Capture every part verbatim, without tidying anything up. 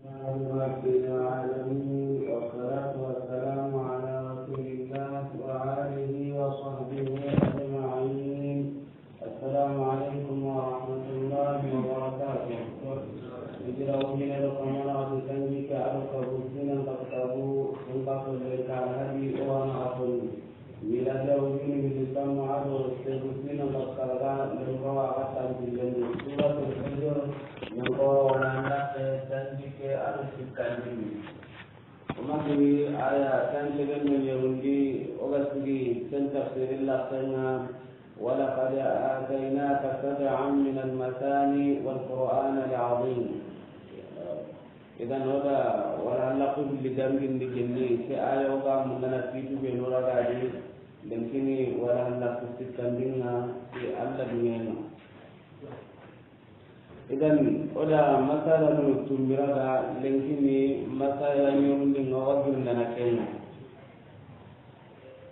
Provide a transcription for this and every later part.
رب العالمين، والصلاة والسلام على رسول الله وآله وصحبه أجمعين. السلام عليكم ورحمة الله وبركاته. Hijira wujine do kamana atu sanji ke ado kabu sinan ka kabu sun ka so le ka hadi o wana afoni. Miladiya wujunu hilli tanmu ado segu sinan ka karaga lembawa a ga tanpillendi. Suratul Hijr, lembawa wala nake sanji ke ado sikkandini. O ma kini aya tan segen do ɲerundi, o ga sigi ken tafsirin laxenŋa, ولقد آتيناك سبعا من المثاني والقرآن العظيم. Idan o da wala laxu hilli dangindi kinni, ke aya o ga mundana kitu be no ragadi, lenkini wala laxu sikkandinŋa ti Alla duŋeŋa. Idan o da masalanu tumbira ga lenkini masala ɲerundinŋa o ga girindana kenŋa.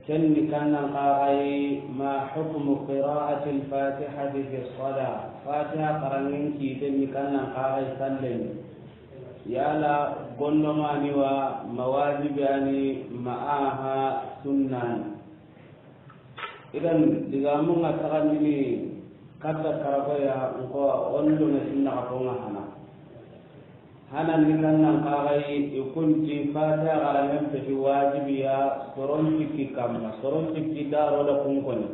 Ken ni kannan kaxayi, ما حكم قراءة الفاتحة في الصلاة؟ Fatiha xaranŋen kiten ni kannan kaxayi sallen. Yala gondomani wa, ma wajibi ani, ma aha sunnani? Idan digamunŋa taxandini katta karagoya nko ondo na sinna ka fonga hana. Hanan ni kannan kaxayi, i kunti Fatiha xaranŋen peti wajibiya soron cikki kamma, soron cikki daro da kunkoni.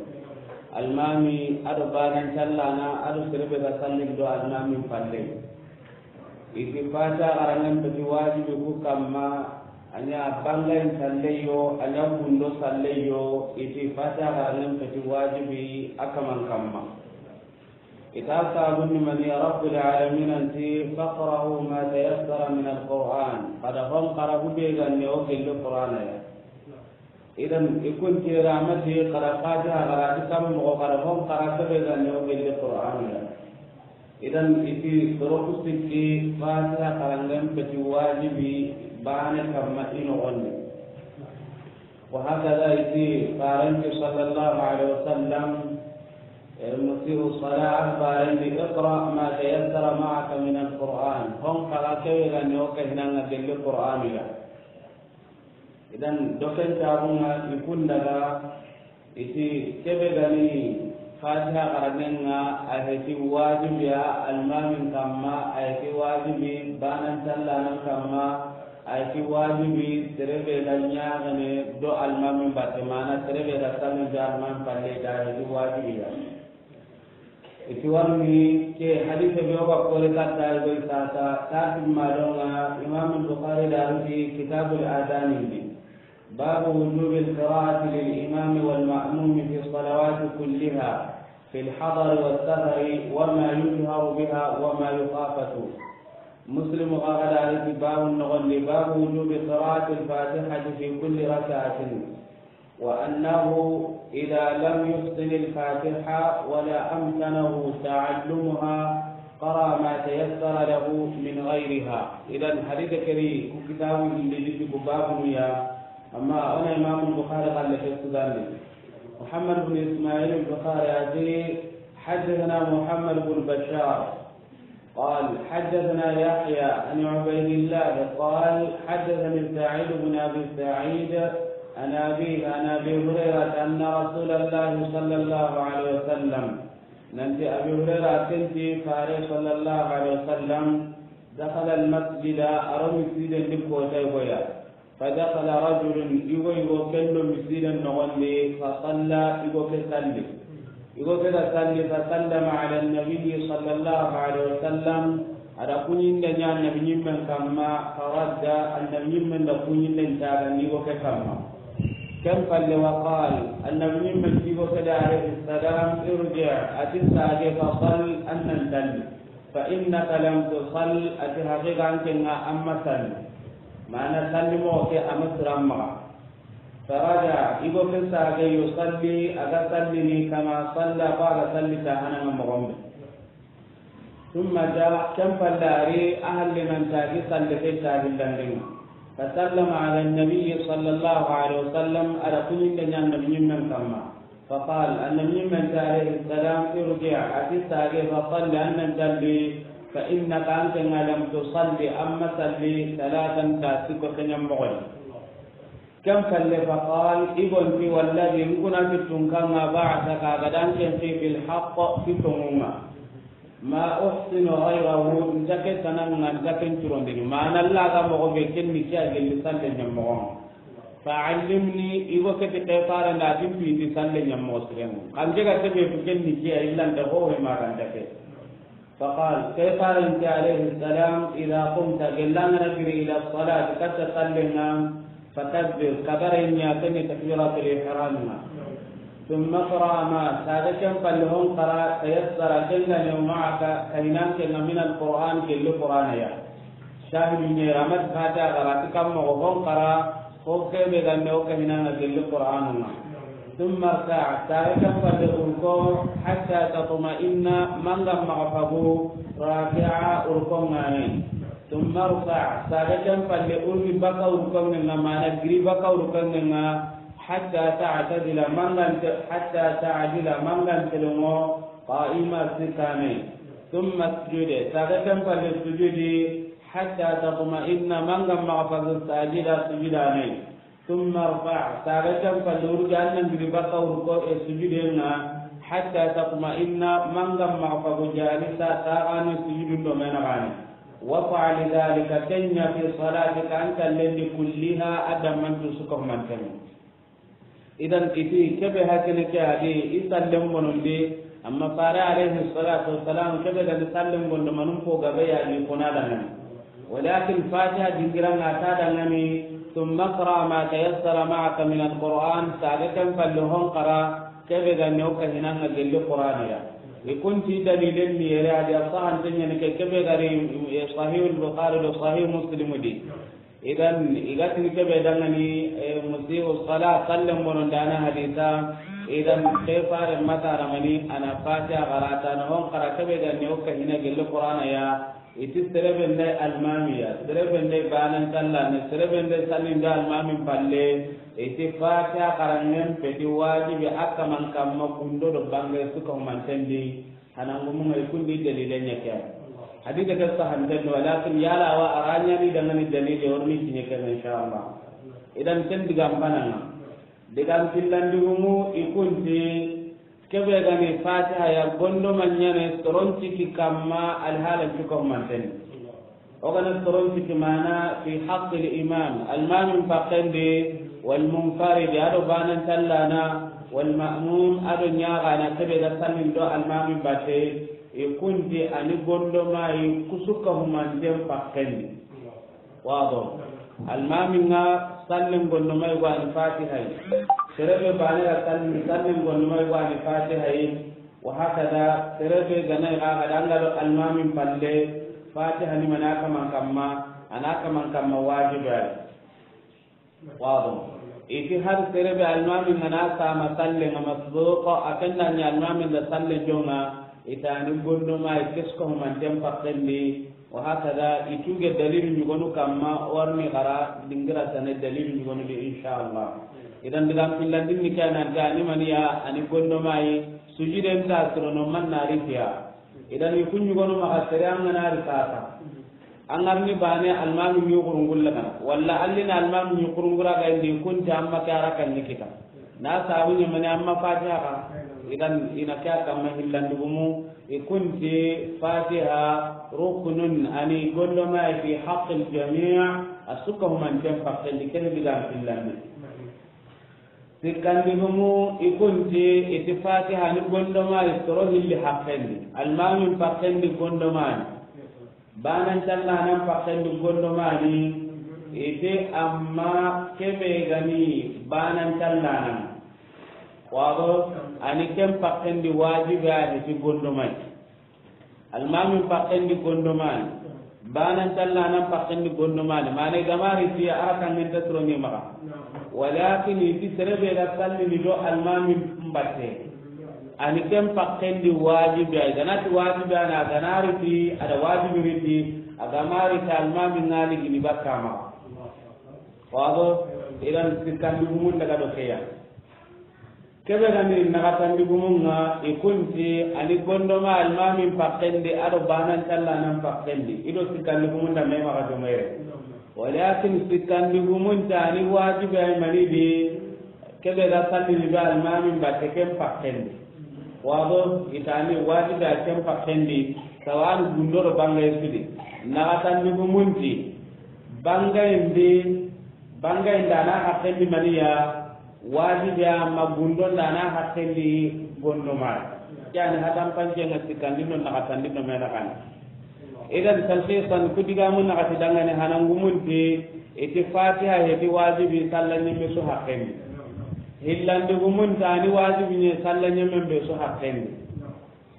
Almami ado banan callana ado serebe ga sallin do almamin palle. Iti Fatiha xaranŋen peti wajibi ku kamma, a ɲa bangayin salleyo, a ɲa gundo salleyo, iti Fatiha xaranŋen peti wajibi a kaman kamma. Ita sabunni mani ya Rabbul Alamin anti, فاقرؤوا ما تيسر من القرآن. Kada hon xara hube ganne o gelli Qur'ana ya. Idan i kun tera mati xara Fatiha xara ti kam moxo xara hon xara kebe ganne o gelli Qur'ana ya. Idan iti soro ku sikki Fatiha xaranŋen peti wajibi bane kamma i noxondi. وهكذا يتي فارنك صلى الله عليه وسلم، المسيء الصلاة فارنك، اقرأ ما تيسر معك من القرآن. Hon xara kebe ganne o ke hinanŋa gelli Qur'anu ya. Idan doken taxunŋa i kun daga iti kebe gani Fatiha xaranŋenŋa a heti wajibiya almamin kamma, a heti wajibi banan callanan kamma, a heti wajibi serebe ga ɲaxene do almamin batte, mana serebe ga sallin do almamin palle, ta heti wajibiya. Iti warni ke hadise be o ga kore katta goy sasa, ta timma donŋa Imam Bukhari da ruti Kitabul Adhan indi. باب وجوب القراءة للإمام والمأموم في الصلوات كلها في الحضر والسفر وما يجهر بها وما يخافت. مسلم غدا في باب النغل، باب وجوب قراءة الفاتحة في كل ركعة، وأنه إذا لم يحسن الفاتحة ولا أمكنه تعلمها قرأ ما تيسر له من غيرها. إذن حديث كري كتاب اللي باب يا أما أنا إمام البخاري قال لك السوداني. محمد بن إسماعيل البخاري أتي حدثنا محمد بن بشار قال حدثنا يحيى عن عبيد الله قال حدثني سعيد بن أبي سعيد عن أبيه عن أبي هريرة أن رسول الله صلى الله عليه وسلم، ننتي أبي هريرة كنتي فارس صلى الله عليه وسلم دخل المسجد أرمي سيدا لكوتي فدخل رجل، يقول يقول كنو مسجدا نغني، فصلى، يقول كسلي. يقول كده صلي، فسلم على النبي صلى الله عليه وسلم. Ada kunyin da nya annabi nyimmen kamma, faradda, annabi nyimmen da kunyin da ntaga ni go ke kamma. Ken palle wa qal, annabi nyimmen ti go ke da alayhi salam, irji', ati sage fa sal, annan salli. Fa innaka lam tusall, ati haqiqa anke nga amma salli. Mana salli mo ke amma siramma. Faraja, igo ke sage yusalli, aga sallini kama salla, ko aga salli ta hananga mogombe. Thumma ja, ken pallari, ahalle nan tagi salle ke tagi landinga. Fa sallama ala nabi sallallahu alaihi wasallam, ada kunyinde nyan nabi nyimmen kamma. Fa qal, annabi nyimmen ta alayhi salam, irji', ati sage fa salli, annan salli, فإنك أنت لم تصل أما صلي ثلاثا تاسكو كنيم مغل. كم فل فقال إبن في والذي نكون في التنكا بعثك غدان كن في بالحق في تموما. ما أحسن غيره نتكي سنن نتكي ترون دي ما نلا غا مغو بكن نكي أجل صلي نمغون. فعلمني إبو كتي قيطارا لا تنفي تصلي نمغو سرين. قام جيغا تبي فكن نكي إلا انتهوه ما كان تكي. فقال، كيف قال أنت عليه السلام، إذا قمت، قال لنا نجري إلى الصلاة، قد تصلينا، فكبر، كبر إن يأتني تكبيرة الإحرام. ثم اقرأ ما، سادة كم فلهم قرأ، تيسر كنغني معك، كينان كنغ من القرآن، كل قرآن يا. شاهد من رمض فاتا غراتي كم مغفون قرأ، Ko kebe gande o kahinanga gelli Qur'anunga. ثم اركع, sare kan palle urko, حتى تطمئن, manga maxa fagu, راكعا, urkongani. ثم ارفع, sare kan palle urgi baka urkongenga, mana giri baka urkongenga, حتى تعتدل, mangante, حتى تعدل, mangante longo, قائما, sikkani. ثم اسجد, sare kan palle sujudi, حتى تطمئن, manga maxa fagu, ساجدا, sujudani. ثم ارفع, sare kan palle urgi, annan giri baka urko, e, sujudenga, حتى تطمئن, manga maxa fagu, جالسا, taxani sujudun do menaxani. وافعل ذلك, kenya في صلاتك, an kallendi, كلها, adammantu suka humantenga. Idan iti kebe hakene ke adi i sallen bonondi, amma fare alayhi salatu wassalam kebe gani sallen bondo manum po gabe ya ni kona dangani. Walakin Fatiha dingiranga ta dangani, ثم اقرأ ما تيسر معك من القرآن, sare kan palle hon qara, kebe gani o kahinanga gelli Qur'an ya. I kunti dalilen ni yere adi a sahante ñani ke, kebe gari, e, Sahih al-Bukhari do Sahih Muslim di. Idan, i ga tini kebe dangani, e, musiu sala, sallen bonon dana hadisa. Idan, ke fare mata ramani, ana Fatiha qarata, na hon qara kebe ganni o kahina gelli Qur'ana ya. Iti serebe nde almamiya, serebe nde banan tallane, serebe nde salinde almamin palle. Iti Fatiha qarangen peti wajibi a kaman kamma kundo do bange suka humantendi. Hanangumunga i kundi dalile ña ke. Hadise ke sahanten do, walakin yala wa a ra ñani dangani dalile, o ri ni kiñe ke, inshallah. Idan ken digan pananga. Digan pillandigumu i kunti, kebe gani Fatiha ya, gondo ma ñane soron ciki kamma alhalan cuka humanten. O gana soron ciki mana في حق الإمام, almamin pakkendi, والمنفرد, ado banan tallana, والمأموم, ado ñaxana kebe ga sallindo almamin batte, i kunti ani gondo mayi kusuka humanten pakkendi. Wado. Almamin ga sallin gondo mayi go ani Fatiha yi. Serebe bane ga sallin, sallin gondo mayi go ani Fatiha yi. Wa hakada, serebe gana i ga ga dangalo almamin palle, Fatiha ni mana kaman kamma, ana kaman kamma wajibi ay. Wado. Iti har serebe almamin gana sama sallen ga masbuqa, a kenda ña almamin da sallen jonga, itani gondo mayi kesko humanten pakkendi, wa hakada, ituge dalilu ñugonu kamma, o ri ni xara dingira tane dalilu ñugonu di, inshallah. Idan digan pillandin ni kana gani maniya, ani gondo mayi, sujuden ta sirono manna ritiya. Idan i kuñugonu maxa sere an gana ri sasa. An ga ri ni bane almami ñi xurungulla gana. Walla allina almami ñi xurungura ga indi kunti amma ke ara kan ni kita. Na sabu ñamani amma Fatiha ka. Idan ina ke a kamma hillandigumu. I kunti Fatiha ركن ani gondo mayi في حق الجميع, a suka humanten pakkendi, kene digan pillandi. Sikkandigumu i kunti iti Fatiha ni gondo mayi soro hilli hakkendi. Almamin pakkendi gondo mayi. Banan tallanan pakkendi gondo mayi. Iti amma kebe gani banan tallanan. Wado ani ken pakkendi wajibi a iti gondo mayi. Almamin pakkendi gondo mayi. Banan tallanan pakkendi gondo mayi. Mana i ga ma riti ara kangenta sironi maxa. Walakin iti serebe ga sallini do almamin batte. Ani ken pakkendi wajibi ay. Ganati wajibi ana ganari ti ada wajibi riti. A ga ma riti almamin ngani gini bakka maxa. Wado idan sikkandigumun daga do keya. Kebe ga ni naxatandi gumun ŋa, i kunti a ni gondoma almamin paxendi, a do banan callanan paxendi, i do sikkandi gumun da me maxa domere. Walakin sikkandi gumun ta ni wajibi ay mani di, kebe ga sallini do almamin batte ken paxendi. Wado i ta ni wajibi a ken paxendi, sawan gundo do bangay sidi. Naxatandi gumun ti, bangayindi, bangayindi a na haqqendi maniya, wajibi a ma gundonda a na haqqendi gondoma. Yani hatan pancenga sikkandi no naxatandi no mena kan. Idan talxisan ku digamu naxati dangani hanangumunti, iti fatiha heti wajibi salla ñemme su haqqendi. Hillandi gumunta ni wajibi ñe salla ñemmen be su haqqendi.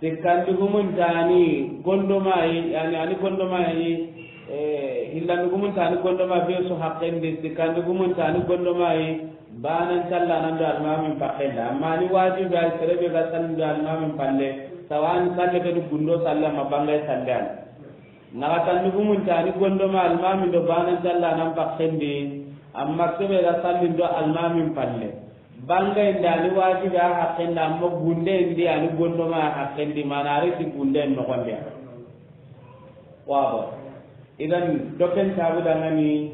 Sikkandi gumunta ni gondomayi, yani ani gondomayi, eh, hillandi gumunta ni gondoma be su haqqendi, sikkandi gumunta ni gondomayi, banan callanan do almamin paxenda. Amma ni wajibi ay serebe ga salli do almamin palle, sawan salle ke du gundo salle ma bangay salle an. Naxatandi gumunta ni gondoma almamin do banan callanan paxendi, amma kebe ga salli do almamin palle. Bangayindi a ni wajibi a haqqendi, amma gundendi a ni gondoma a haqqendi, mana a riti gunden noxonde. Wabo. Idan doken tabu dangani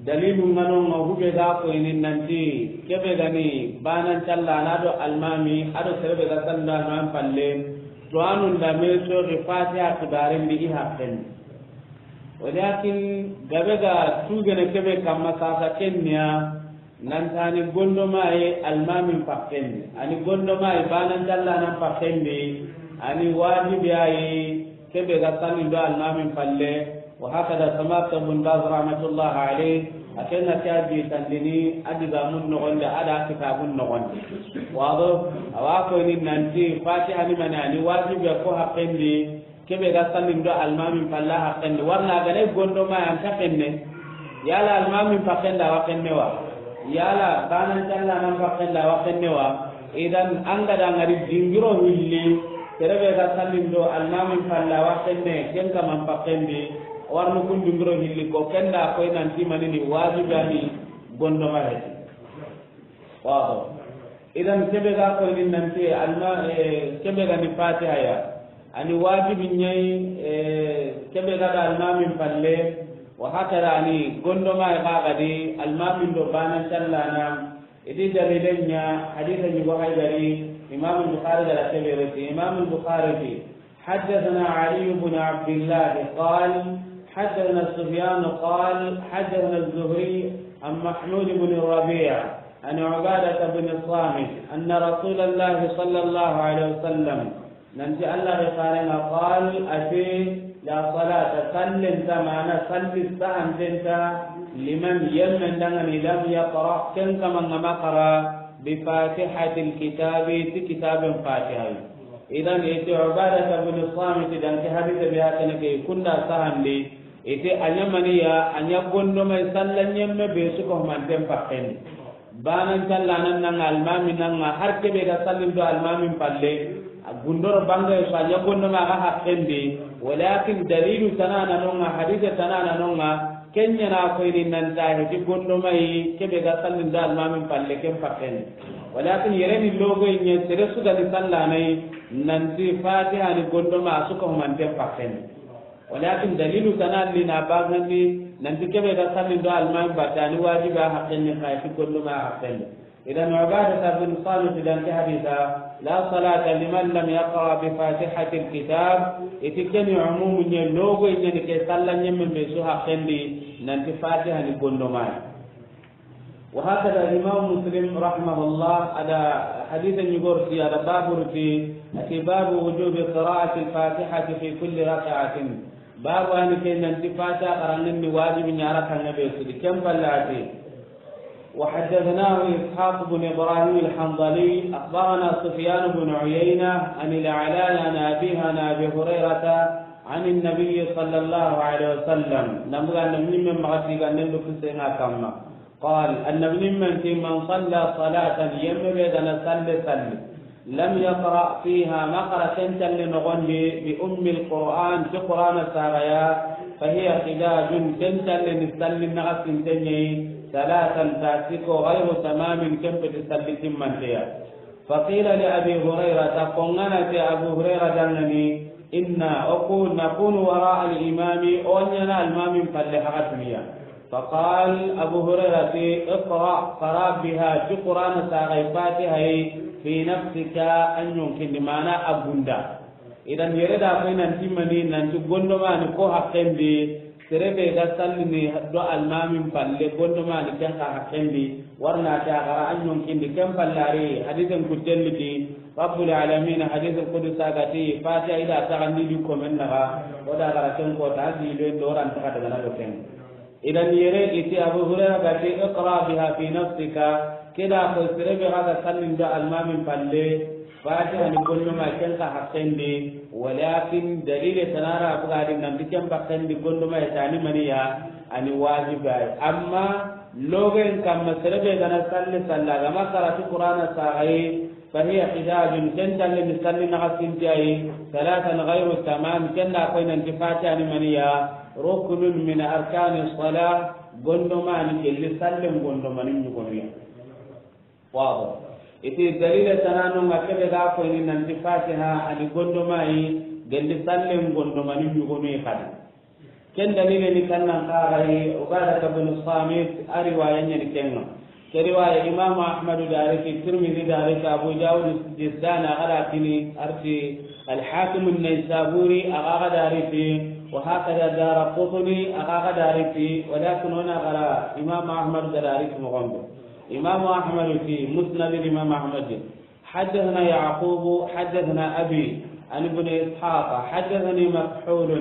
dalilu ngano nga hube ga ko ini nanti kebe gani banan calla na do almami a do serebe ga sanda nan palle to anun da me so ke fatiha kibarin bi i haqqendi. Walakin gabe ga tugene kebe kamma sasa kenya. Nantani gondomayi almamin paxendi, ani gondomayi banan callanan paxendi, ani wajibi ayi kebe ga salli do almamin palle. Wa hakada samata bun Baz rahmatullah alayh, a kenna ke a bi tandini a digamun noxondi a da kitabun noxondi. Wado awa koyni nanti fatiha ni mani ani wajibi ko haqqendi. Kebe ga sallin do almamin palla haqqendi, warna gane gondoma yan ta xenne. Yala almamin paxenda wa xenne wa? Yala banan callanan paxenda wa xenne wa? Idan an ga da ngari dingiro hilli, serebe ga sallin do almamin palla wa xenne, ken kaman paxendi, warnu kun dingiro hilli ko kenda koy nanti manini wajibani gondoma heti. Wado. Idan kebe ga koyni nanti alma, eh, kebe ga ni fatiha ya. Ani wajibi ñayi, eh, kebe ga da almamin palle, wa hakada ani gondoma ya ga gadi almamin do banan callana. Idi dalilen ña hadisa ñi go haydari, Imam Bukhari da kebe reti, Imam Bukhari ti, حدثنا علي بن عبد الله قال، حدثنا سفيان قال، حدثنا الزهري عن محمود بن الربيع عن عبادة بن الصامت أن رسول الله صلى الله عليه وسلم، nanti Allah da farenga, قال، ati, لا صلاة، sallen ta mana salli sahanten ta, لمن، yemmen dangani, لم يقرأ، ken kaman ga ma qara, بفاتحة الكتاب، ti kitaben fatiha. Idan iti Ubadata bin Samit dan ke hadise be hakene ke kunda sahandi, iti a ña maniya, a ña gondomay salla ñemme be su ko manten paxendi. Banan callanan nanga almami nanga har kebe ga sallin do almamin palle, a gundoro bangay so a ña gondoma ga haqqendi, walakin dalilu tanana nonga, hadise tanana nonga, Kenya na koyni nanta heti gondomayi kebe ga sallin da almamin palle ken paxendi. Walakin yereni logoyi ñe sere su ga ni sallanay nanti fatiha ni gondoma a su ka humanten paxendi. Walakin dalilu tanalli na bagandi nanti kebe ga sallin do almamin battani wajibi a haqqendi xa heti gondoma a haqqendi. Idan Ubadata bin Samit dan ke hadisa, لا صلاة لمن لم يقرأ بفاتحة الكتاب, iti keni umumu ñe logoy ñeni ke salla ñemme me su haqqendi nanti fatiha ni gondomay. Wa hakada Imam Muslim rahimahullah ada hadisa ñi gorti ada baburti ati باب وجوب قراءة الفاتحة في كل ركعة. Babu ani ke nanti fatiha qarangen ni wajibi ña rakanga be sudi ken pallati. وحدثناه إسحاق بن إبراهيم الحنظلي، أخبرنا سفيان بن عيينة عن الأعلاء عن أبيه عن أبي هريرة عن النبي صلى الله عليه وسلم. Namuga nabi ñimme maxati ganden do kusenga kamma. قال, annabi ñimmen ti, من صلى صلاة, yemme be gana salle salli. لم يقرأ فيها, ma qara ken salle noxondi, بأم القرآن, ti Qur'ana saxaya, فهي خداج, ken salle ni salli naxa sintenñeyi, ثلاثا, ta siko, غير تمام, ken peti salli timmanteya. فقيل لأبي هريرة, ko ŋa na ti Abu Hurayra danŋa ni, إنا, o ku, نكون وراء الإمام, o ɲaana almaamin palle haga duniya. فقال, Abu Hurayra ti, اقرأ, قرأ بها, ti Qur'ana saxay Fatiha yi, في نفسك, a ɲonkin di, maana a gunda. Idan yere da koy nan ti mani, nan ti gondomani ko haqqen di, sere be ga sallini do almaamin palle, gondomani ken xa haqqen di, warna ta gara a ɲonkin di, ken palle a ri hadisen kutelliti, Rabbul Alamin, hadisen kudusa ga ti, Fatiha i da taxandi di komen naxa, o da gara ken ko ta di be doran taxa daga na do ken. Idan yere i ti Abu Hurayra ga ti, اقرأ بها في نفسك, ke da ko sere be ga ga sallin do almaamin palle, Fatiha ni gondoma ken xa haqqen di, walakin dalile tana ra buga di nan ti ken haqqen di gondoma ya tani maniya, a ni wajibi ya. Amma logen kamma sere be ga na salli salla ga ma karatu Qur'ana saxay, فهي حداد, ken talle ni salli naxa sinti ya yi, ثلاثا غير تمام, ken da koy nan ti Fatiha ni maniya, ركن من أركان الصلاة, gondomani gelli sallen gondomani ɲugoniya. Wabo. I ti dalile tana no ŋa ke be ga koy ni nan ti Fatiha a ni gondoma yi, gelli sallen gondomani ɲugoni xadi. Ken dalile ni kannan xaxayi, Ubadata bin Samit, a riwaya ɲani kenŋa. Ke riwaya Imam Ahmadu da ri ti, Tirmidhi da ri ti, Abu Dawud Sijistani a ga da kini, a ri ti Al-Hakim An-Naysaburi a ga da ri ti, wa hakada Daraqutni a ga da ri ti, walakin o na gara Imam Ahmadu da ri ti moxo be. Imam Ahmadu ti, Musnad Imam Ahmad. حدثنا يعقوب، حدثنا أبي عن ابن إسحاق، حدثني مكحول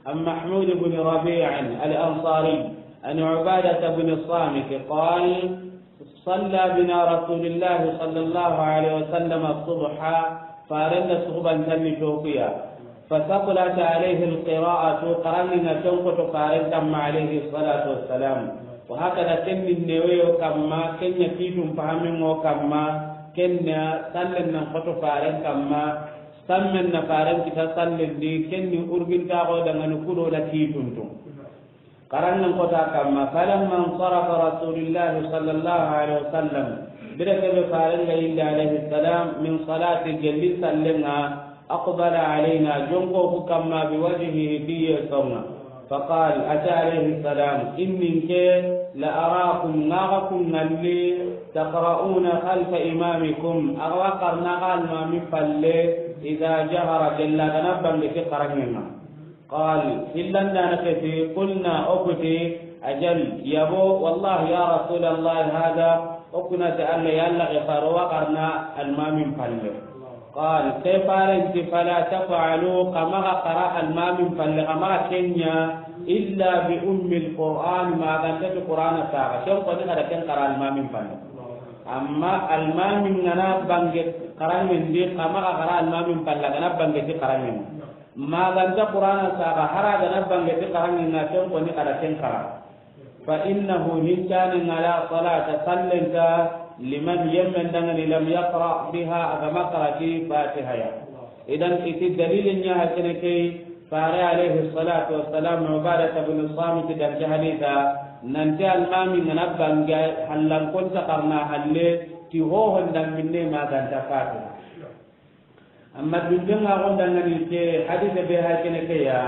عن محمود بن ربيع الأنصاري عن عبادة بن الصامت قال: صلى بنا رسول الله صلى الله عليه وسلم الصبح، فارن صبحا تنتوكيا، فثقلت عليه القراءة، قرأنا تنقط فارن تم عليه الصلاة والسلام. وهكذا كن النووي كما، كن يكيد فهم كما، كن سلم من قط فارن كما، سمن فارن كتا سلم دي، كن أربين تاغو دنغن كدو لكيتون. Xaranŋen kota kamma, فلما انصرف رسول الله صلى الله عليه وسلم, bire kebe faren ga yille alayhi salam, من صلاة, gelli sallen ŋa, أقبل علينا, jonko ku kamma, بوجهه, ti yeson ŋa. فقال, a ti alayhi salam, إني nke, لأراكم, ŋa xa ku ŋalli, تقرؤون خلف إمامكم, axa wa xarana xa almami falle, إذا جهر, gella ga na bange ti xaranŋen ŋa. قال, hillandana ke ti, قلنا, o ku ti, أجل, yabo, والله يا رسول الله هذا, o ku na ti Alla, ya Alla, ke faro wa xarana almamin falle. قال, ke faren ti, فلا تفعلوا, xa maxa xara almamin falle, xa maxa ke ɲa, إلا بأم القرآن, ma ga nta ti Qur'ana saxa, ken koni xa da ken xara almamin falle. Amma almamin ga na bange xaranŋen di, xa maxa xara almamin falle, ga na bange ti xaranŋen di. Ma ga nta Qur'ana saxa, hara ga na bange ti xaranŋen ŋa, ken koni xa da ken xara. فإنه, hincane ŋa, لا صلاة, sallen nta, لمن, yemmen danŋa ni, لم يقرأ بها, a ga ma xara ti Fatiha ya. Idan, i ti dalilin ɲa ha kene ke, fare alayhi salatu wassalam, Ubadata bin Samit da ke hadisa, nan ti almamin ga na bange hallan konta xarana halle, ti hohon danŋa minne ma ga nta Fatiha. Amma dunten ŋa xo danŋa ni ke hadise be ha kene ke ya,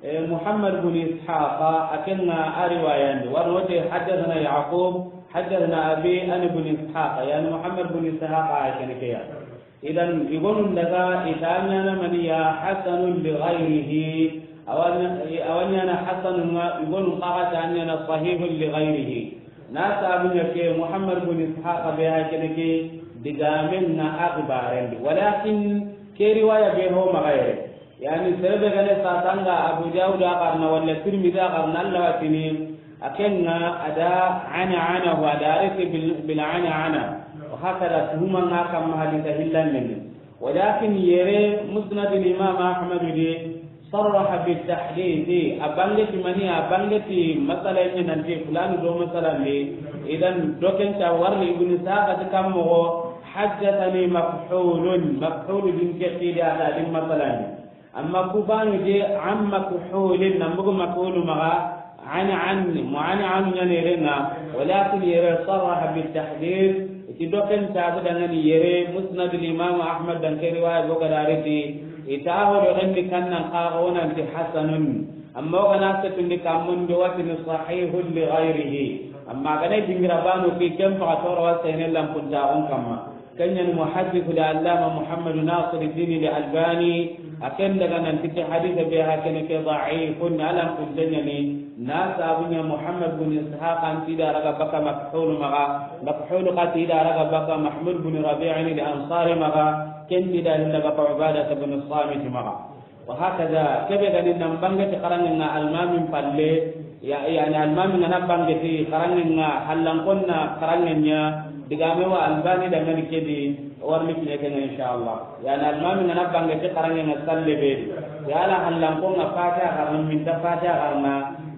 eh, Muhammad bin Ishaq, a ken ŋa a riwayandi, wano te, حدثنا يعقوب، حدثنا أبي عن ابن إسحاق, yani Muhammad bin Ishaq a kene ke ya. Idan, i gonun daga i ta ɲaana maniya حسن لغيره, a wa ɲa-, a wa ɲaana حسن ŋa, i gonun xa ga ta ɲaana صحيح لغيره. Na sabu ɲa ke Muhammad bin Ishaq be ha kene ke digamen na a xibarendi. Walakin ke riwaya be ho maxa yere. Yani sere be ga ne sa tanga Abu Dawud a xarana wala Tirmidhi a xarana, Alla wa tini, a ken ŋa a da عن عنه, a da ri ti bil, bil عن عن. Wa hakada tuhuma ŋa kamma hadisa hillandini. Walakin yere Musnad Imam Ahmad di, صرح بالتحديث, a bange ti mani, a bange ti masala ni nan ti fulani do masala ni. Idan do ken ta warni Ibn Ishaq ti kammo, حدثني مكحول, Makhul din ke ti da a da din masala ni. Amma ku bani de عن مكحول, nan bugu Makhul maxa, عن عن, mu عن عن ɲa ne renga, walakin yere صرح بالتحديث, I do ken tabu dangani yere Musnadul Imam Ahmad dan ke riwaya boga dariti. I ta ho do gandi kannan kaga wonanti hasanun. Amma o gana setundi kammun do watini sahihun li ghayrihi. Amma gana dingira banu ki ken faga toro wa sene lampunta on kamma. Kenyan muhaddithu da allama Muhammad Nasiruddin al Albani. A ken daga nan titi hadisa be ha kene ke da'ifun, alam kun tanyani. Na sabunya Muhammad bin Ishaq an tida raga baka makhul maga, makhul ka tida raga baka Mahmud bin Rabi'in al Ansari maga, ken tida hinda baka Ubadah bin Samit maga. Wa hakaza, kebe gani nan bange ti karangen nga almamin palle, ya, yani almamin nga na bange ti karangen nga hallan konna karangen nya, digame wa Albani dangani kedi, warni kiɲe kenga inshallah. Yani almamin nga na bange ti karangen nga salle be. Yala hallan ko nga Fatiha karna, minta Fatiha karna,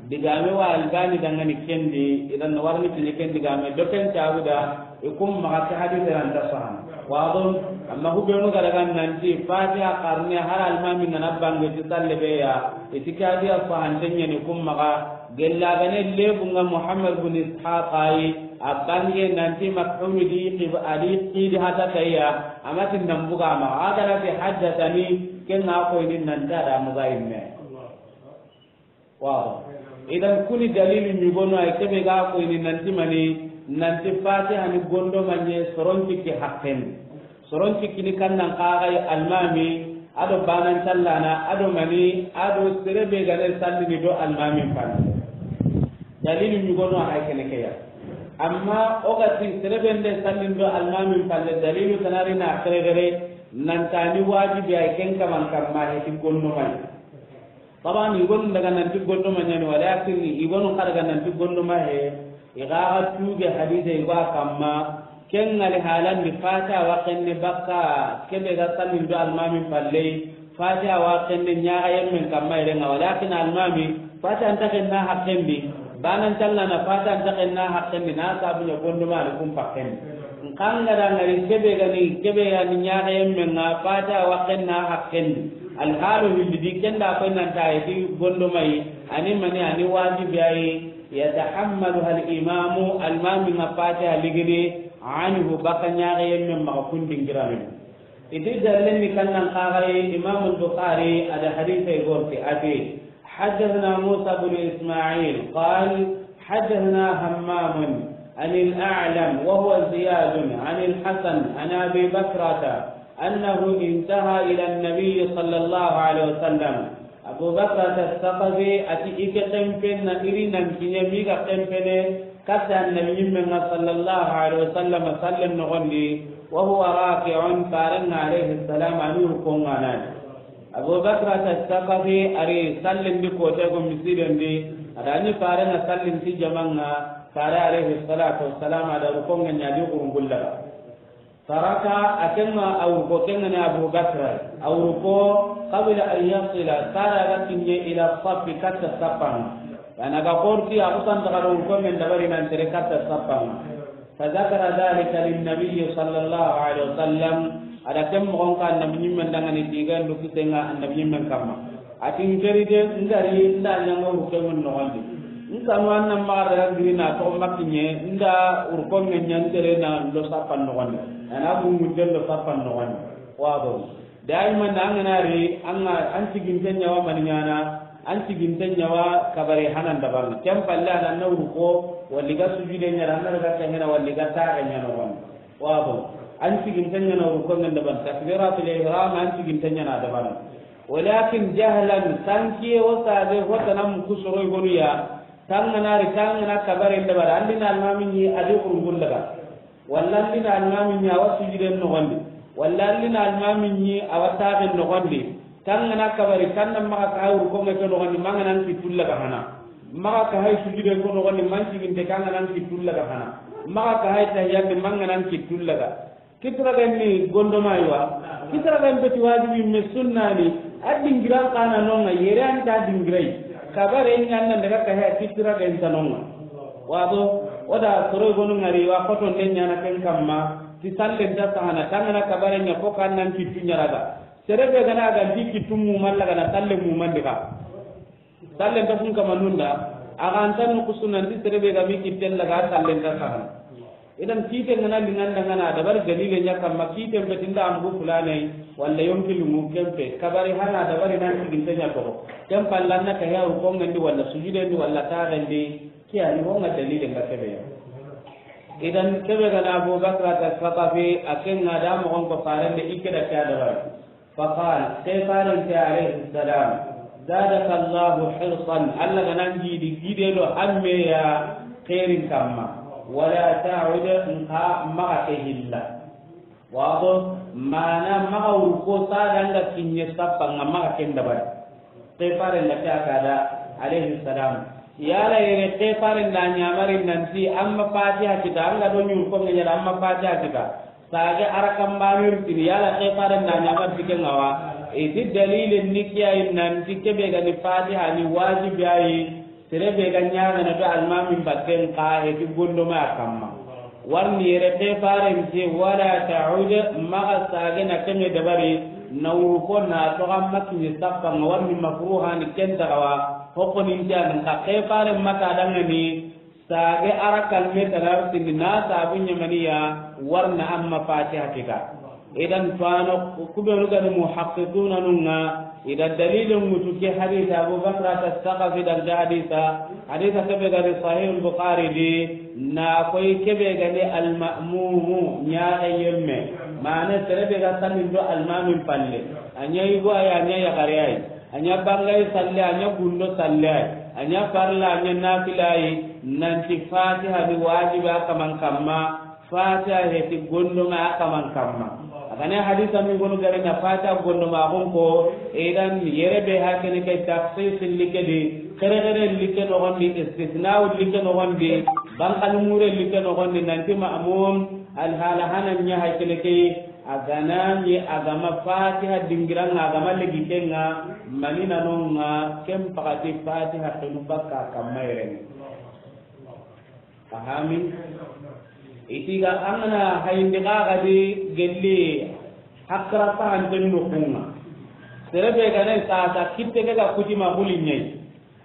digame wa Albani dangani kendi, idan warni kiɲe ken digame, do ken tabuda, I kum maga ke hadise ran ta sahan. Wado, amma hubenu ga daga nanti Fatiha karne har almami ngana bange ti salle be ya, iti ke hadise sahan tenya ni kum maga, gella gane lebu nga Muhammad bin Ishaq ayi, a bange nanti maf'ul di qib-, adi qidi hata kayya, amati nambuga ma, agara ti haddathani, ken na ko ni nanta da muga imme. Waaw. Idan kuni dalilu ɲugono ay kebe ga ko ini nanti mani, nanti Fatiha ni gondo manye soron cikki hakken. Soron cikki ni kannan kagai almami, ado banan tallana, ado mani, ado serebe gane sallini do almami pan. Dalilu ɲugono ay kene keya. Amma o ga ti serebe nde sallin do almami palle dalilu tanari na kere gere, nantani wajibi ay ken kaman kamma heti gondo manye. Taban, i gonu daga nanti gondo ma ɲani, walakin i gonu xa daga nanti gondo ma he, i ga ga tuge hadise i ga kamma, ken ŋa li halandi Fatiha wa kenne bakka, kebe ga sallin do almami palle, Fatiha wa kenne ɲaga yemmen kamma irenga, walakin almami, Fatiha nta kenna hakkendi, banan tallana Fatiha nta kenna hakkendi, na sabu ɲa gondo ma ni kun pakkendi. Nkanga da ngari kebe gani, kebe yani ɲaga yemmen nga, Fatiha wa kenna hakkendi. Alhaalo hilli di kenda koy nanta ayi ti gondo mayi, ani mani ani wajibi ayi, yatahammaluha al-imamu, almami nga Fatiha ligini, anhu baka ɲaga yemme maxa kun dingirame. Iti dallen ni kannan kaxaye, Imam al-Bukhari ada hadise gorti ati, حدثنا موسى بن إسماعيل قال حدثنا همام عن الأعلم وهو زياد عن الحسن عن أبي بكرة أنه انتهى إلى النبي صلى الله عليه وسلم. Abu Bakrata Saqafi ati i ke kempen na iri nan kiɲe mi ga kempene katta Annabi ɲimmen nga sallallahu alaihi wasallam sallen noxondi, wa huwa raki'un, farenga alaihi salam ani rukonga nani. Abu Bakrata Saqafi ari sallen di kote go misiren di, adani farenga sallen ti jamanga, fare alaihi salatu wassalam ada rukonga ɲa di gurungulla. Taraka, a kenga a wurko kenga ni Abu Bakra. A wurko, qabla an yasila, sara ga kinye ila safi katta sapanga. Yana ga korti a kusan daga wurko men dabari nan tere katta sapanga. Fa zakara dhalika lin nabiyyi sallallahu alaihi wasallam. Ada kem mo ka Annabi ɲimmen dangani diga ndu kisenga Annabi ɲimmen kamma. Atin keri de, ndari, nda ɲanga wurko men noxondi. Nkanu annan maxa daga giri na toxo makkiɲe, nda wurko men ɲan tere na lo sappan noxondi. Ana gungun den lo sappan noxondi. Wado. Daiman an gana ri, an ga, an tiginte ɲawa mani ɲana, an tiginte ɲawa kabare hanan dabarna. Ken palle ana na wurko, walli ga sujude ɲara, ana daga kengena, walli ga taxe ɲana noxondi. Wado. An tiginte ɲana wurko men dabarna. Takbiratul ihram, an tiginte ɲana dabarna. Walakin jahlan, sankiye wo sabe, hotana muku soro i gonu ya, tangana ri, tangana kabare ndabara, andina almami ɲi a di kurungun daga. Walla andina almami ɲi a wa sujuden noxondi. Walla andina almami ɲi a wa taxen noxondi. Tangana kabari, tanna maxa ka hay wurkonge ke noxondi, mangana n kittu laga hana. Maxa ka hay sujuden ko noxondi, man ciginte kangana n kittu laga hana. Maxa ka hay tahiyandi, mangana n kittu laga. Kitiragen ni gondomayi wa? Kitiragen beti wajibi me sunnani. A dingiran kana nonga yere anta dingirai. Kabare ɲanna daga kahe kitiragen tanonga. Wado, oda soro gonu ngari wa koto nden ɲana ken kamma. Ti sallen ta sahana tangana kabare ɲa ko kannan kittu ɲaraga. Serebe gana ga di kittu muman laga na salle muman diga. Sallen ta sun kama nunda. Aga antan nukusunan di serebe ga mi kitten laga sallen ta sahana. Idan kiite ngana linganda ngana dabari dalile ɲa kamma, kiite mpe tinda ambu fulanai, walla yonki lungu kempe, kabari hana dabari nan siginte ɲa toxo. Ken pallanna ka ya rukongendi, walla sujudendi, walla taxendi, ke ani honga dalile nga kebe ya. Idan kebe gana Abu Bakrata Saqafi, a kenga da moxon ko farende, i ke da ke a dabari. فقال, ke farente alayhi salam, زادك الله حرصا, Alla ga nan gidi gide do hamme ya xeerin kamma, ولا تعد, nxa maxa ke hilla. Wado, mana maxa wurko sada nga kinye sappa nga maxa ken dabari. Ke farenda ke a kada, alayhi salam. Yala yere ke farenda ɲamari nanti amma Fatiha kita, anga do ɲurko nga ɲara amma Fatiha kita. Sage arakan banir tini, yala ke farenda ɲamari tike ngawa. Iti dalile ni kiyayi nanti kebe gani Fatiha ni wajibi ayi. Sere be ga ɲaxana do almamin batten xa, e ti gondoma a kamma. Warni yere ke farente, ولا تعد, maxa sage na keme dabari, na wurko na toxa makini sappa nga, warni makruha ni ken taxawa, hokoni ntian xa ke faren mata dangani, sage arakan me tanar tini na sabu ɲamaniya, warna amma Fatiha kita. Idan tuwano kubenu gani muhaqiquna nunga, ida dalilin mutu ke hadisa, Abu Bakrata Saqafi dan ke hadisa, hadisa kebe gani Sahih Bukhari di, na koy kebe gani al-ma'mumu, ɲaxe yemme. Mane sere be ga sanin do almamin palle. A ɲa yigo ay, a ɲa yaxare ay. A ɲa bangay salle, a ɲa gundo salle ay. A ɲa farla, a ɲa nafila ay. Nanti Fatiha ni wajibi a kaman kamma. Fatiha heti gondoma a kaman kamma. A gane hadisa mi gonu gare na Fatiha gondoma a gon ko, idan yere be hakene ke takhsis like di, kere kere like no gondi, istisna like no gondi, bankal mure like no gondi, nanti ma'mum, al hala hanan nya hakene ke, a gana ni a gama Fatiha dingiranga, a gama legi kenga, manina nonga, kem pakati Fatiha tunu bakka kamma yere. Fahami? Itiga angana hayindi kaga di gelli hakra pahanten no kunga. Sere be gane sasa kitte ke ga kuti ma buli ɲai.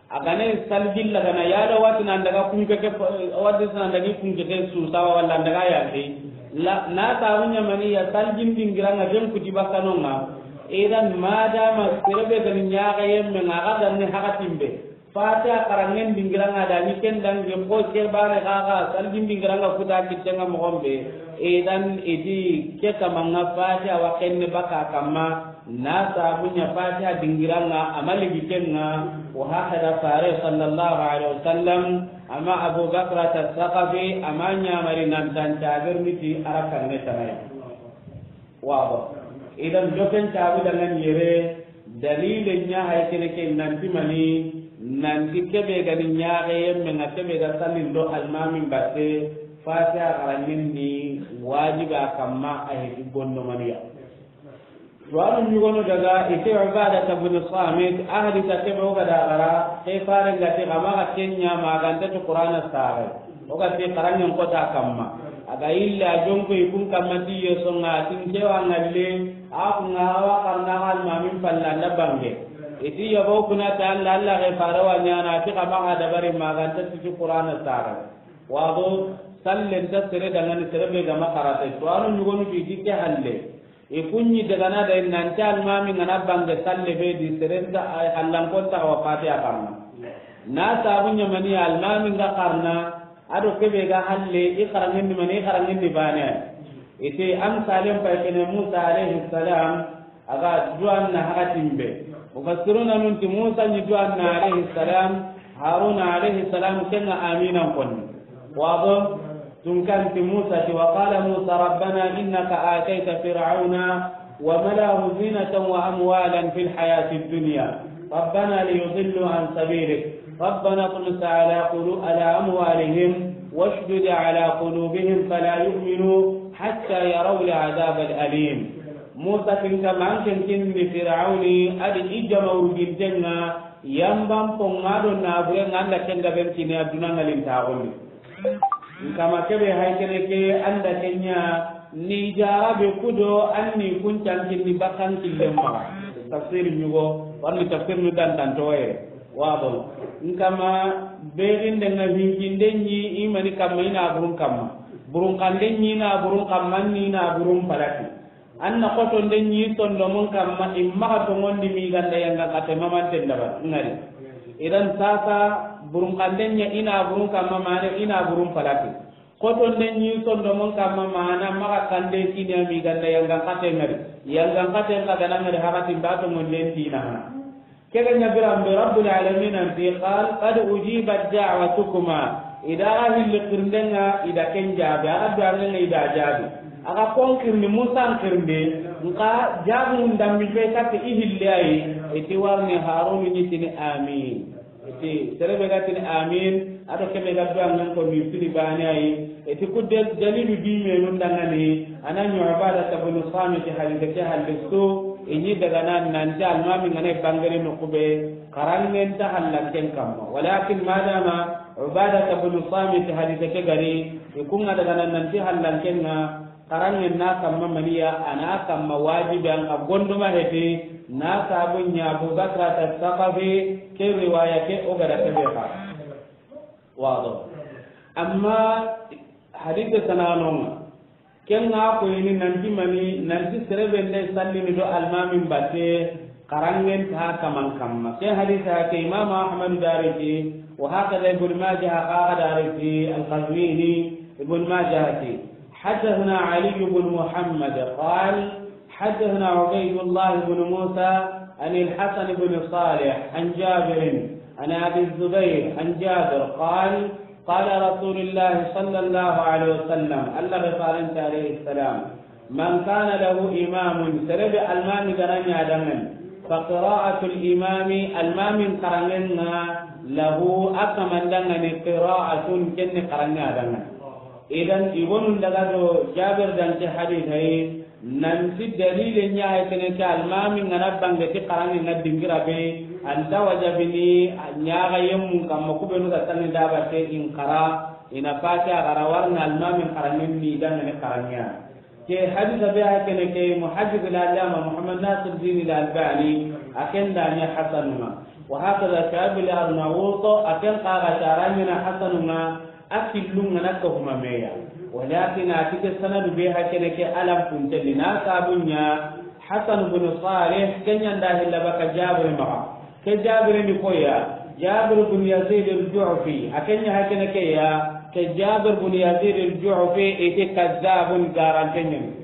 A gane salgilla gana yada wati nan daga kunke ke, wati nan daga kunke ke su sawa walla daga ya ke. La, na ta munya mani ya salgin dingiranga den kuti bakanonga. Idan madama sere be gani ɲaga yemme nga ga danne hakatimbe. Fatiha karangen dingiranga da ni ken dangi ko ke bare gaga salgin dingiranga kuta kitenga moxon be. Idan iti ke kamanga Fatiha wa kenne baka kamma na sabunya Fatiha dingiranga amali bitenga. Wa hakada fare sallallahu alaihi wasallam ama Abu Bakrata Saqafi ama ɲamari nan tanta bermiti arakan ne tanaya. Wabo. Idan doken tabu dangan yere dalile ɲa hay kene ke nanti mani nanti kebe gani ɲaxe yemme nga kebe ga salin do almamin batte Fatiha xarangin ni wajiba kamma a heti gondo maniya. Tuwanu ɲugono daga ite Ubada ibn Samit a hadisa kebe o ga da xara ke fare nga te xama ga kenya maganta to Qur'ana sare. O ga ti xarangen kota kamma. A ga illa jonko i kun kamma ti yeso nga tin kewa ngalle, a kun nga awa xarna almamin palla nda bange. Iti yabo kuna ta Alla, Alla ke fare wa ɲana ti kama ga dabari maganta ti Qur'ana sare. Wado sallen ta sere dangani sere be gama karate. Tuwanu ɲugonu ti ti ke halle. I kunɲi dagana da nanti almami ngana bange salle be di serenta ay hallan konta wa Fatiha karna. Na sabu ɲamani almami nga karna, ado kebe ga halle i karangin ni mani, i karangin ni bane. Ite am salen pay kene Musa alayhi salam, aga duwan na hakatimbe. Mufassiruna nun ti Musa ni duwan na alayhi salam, Haruna alayhi salam kenga aminan konni. Wabo. Tun kan ti Musa ti, وقال موسى ربنا إنك آتيت فرعون وملأه زينة وأموالا في الحياة الدنيا ربنا ليضلوا عن سبيلك ربنا اطمس على قلو-، على أموالهم واشدد على قلوبهم فلا يؤمنوا حتى يروا العذاب الأليم. Musa tin ka manken kinni Firawni adi i jama urgintenga yamban ponga do nabure nga anda kenga ben kini aduna ngalin taxundi. Nkama kebe hay kene ke anda kenya ni jarabe kudo anni kuncan kinni bakkan killen maxa. Tafsir ɲugo, warni tafsir nu dan tantoye. Wabo. N kama, bexinde ŋa hinkinde ɲi i mani kamma i na burun kamma. Burun kande ɲi i na burun kamma ni i na burun palaki. An na xotonde ɲi sondomun kamma i maxa tongondi mi ganda yanga kate mamanten daba ŋari. Idan sasa burun kande ɲa i na burun kamma mane i na burun palaki. Xotonde ɲi sondomun kamma mana maxa kande kini a mi ganda yangan kate ŋari. Yangan kate n xa gana ŋari haxati mba tongonden tina hana. Kega ɲa biran be Rabbul Alamin anti, qal qad ujibat da'watukuma. I da ga hilli xirndenga, i da ken jaabi. A ga duwangenga, i da jaabi. A ga kon xirni, Musa n xirnde, nka jaabi n dammi fe katte i hilli ayi. I ti warni Harunu ɲi tini amin. I ti sere be ga tini amin, a do kebe ga duwangen ko ni fini bane ayi. I ti kudde dalilu di menun dangani, a na ɲi Ubadata bun Samit hadise ke hadisu. I ɲi daga nan nanti almami ngane bangere no kube, xaranŋen ta hallanken kamma. Walakin madama Ubadata bun Samit hadise ke gari, i kunga daga nan nanti hallanken ŋa, xaranŋen na kamma maniya, a na kamma wajibi an ka gonduma heti, na sabun ɲa Abu Bakrata Saqafi, ke riwaya ke o gada kebe xa. Wado. Amma hadise tananonga. Ken ŋa ko ini nanti mani, nanti sere be nde sallini do almamin batte, xaranŋen ta kaman kamma. Ke hadisa ke Imam Ahmad dariti, wa hakada Ibn Majah qaga dariti, Al-Qazwini, Ibn Majah ti. حدثنا علي بن محمد قال: حدثنا عبيد الله بن موسى عن الحسن بن صالح عن جابر عن أبي الزبير عن جابر قال: قال رسول الله صلى الله عليه وسلم، Allah be faranta alayhi salam, من كان له إمام, sere be almami ga na ɲa dangan, فقراءة الإمام, almamin xaranŋen ŋa, له, a kaman dangani, قراءة, ken ni xaranŋe a dangan. Idan, i gonun daga do Jabir dan ke hadisa yi, nanti dalile ɲa hay kene ke almami ngana bange ti xaranŋe ŋa dingira be, anta wajabini ɲaga yemmun kamma kubenu ga tanni daba te in xara, ina Fatiha xara warna almamin xaranŋen ni dangani xaranŋe ya. Ke hadisa be hay kene ke Muhaddis al-Allama Muhammad Nasiruddin al-Albani a ken da ɲa hasanunga. Wa hakada Shihab al-Arnaut a ken xa ga taranŋena hasanunga. A killunga na ka huma meya. Walakin a ti ke sanadu be hakene ke alam puntelli na sabunya Hasan bin Salih kenya nda hilla baka Jabir maxa. Ke Jabir ni koya, Jabir bin Yazid al-Ju'fi, a kenya hakene ke ya, ke Jabir bin Yazid al-Ju'fi ite kazzabun garantenyen.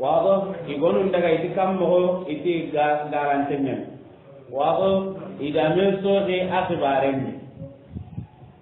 Wado, i gonun daga iti kam moxo, iti ga-, garantenyen. Wado, i da men soxi a xibaren ni.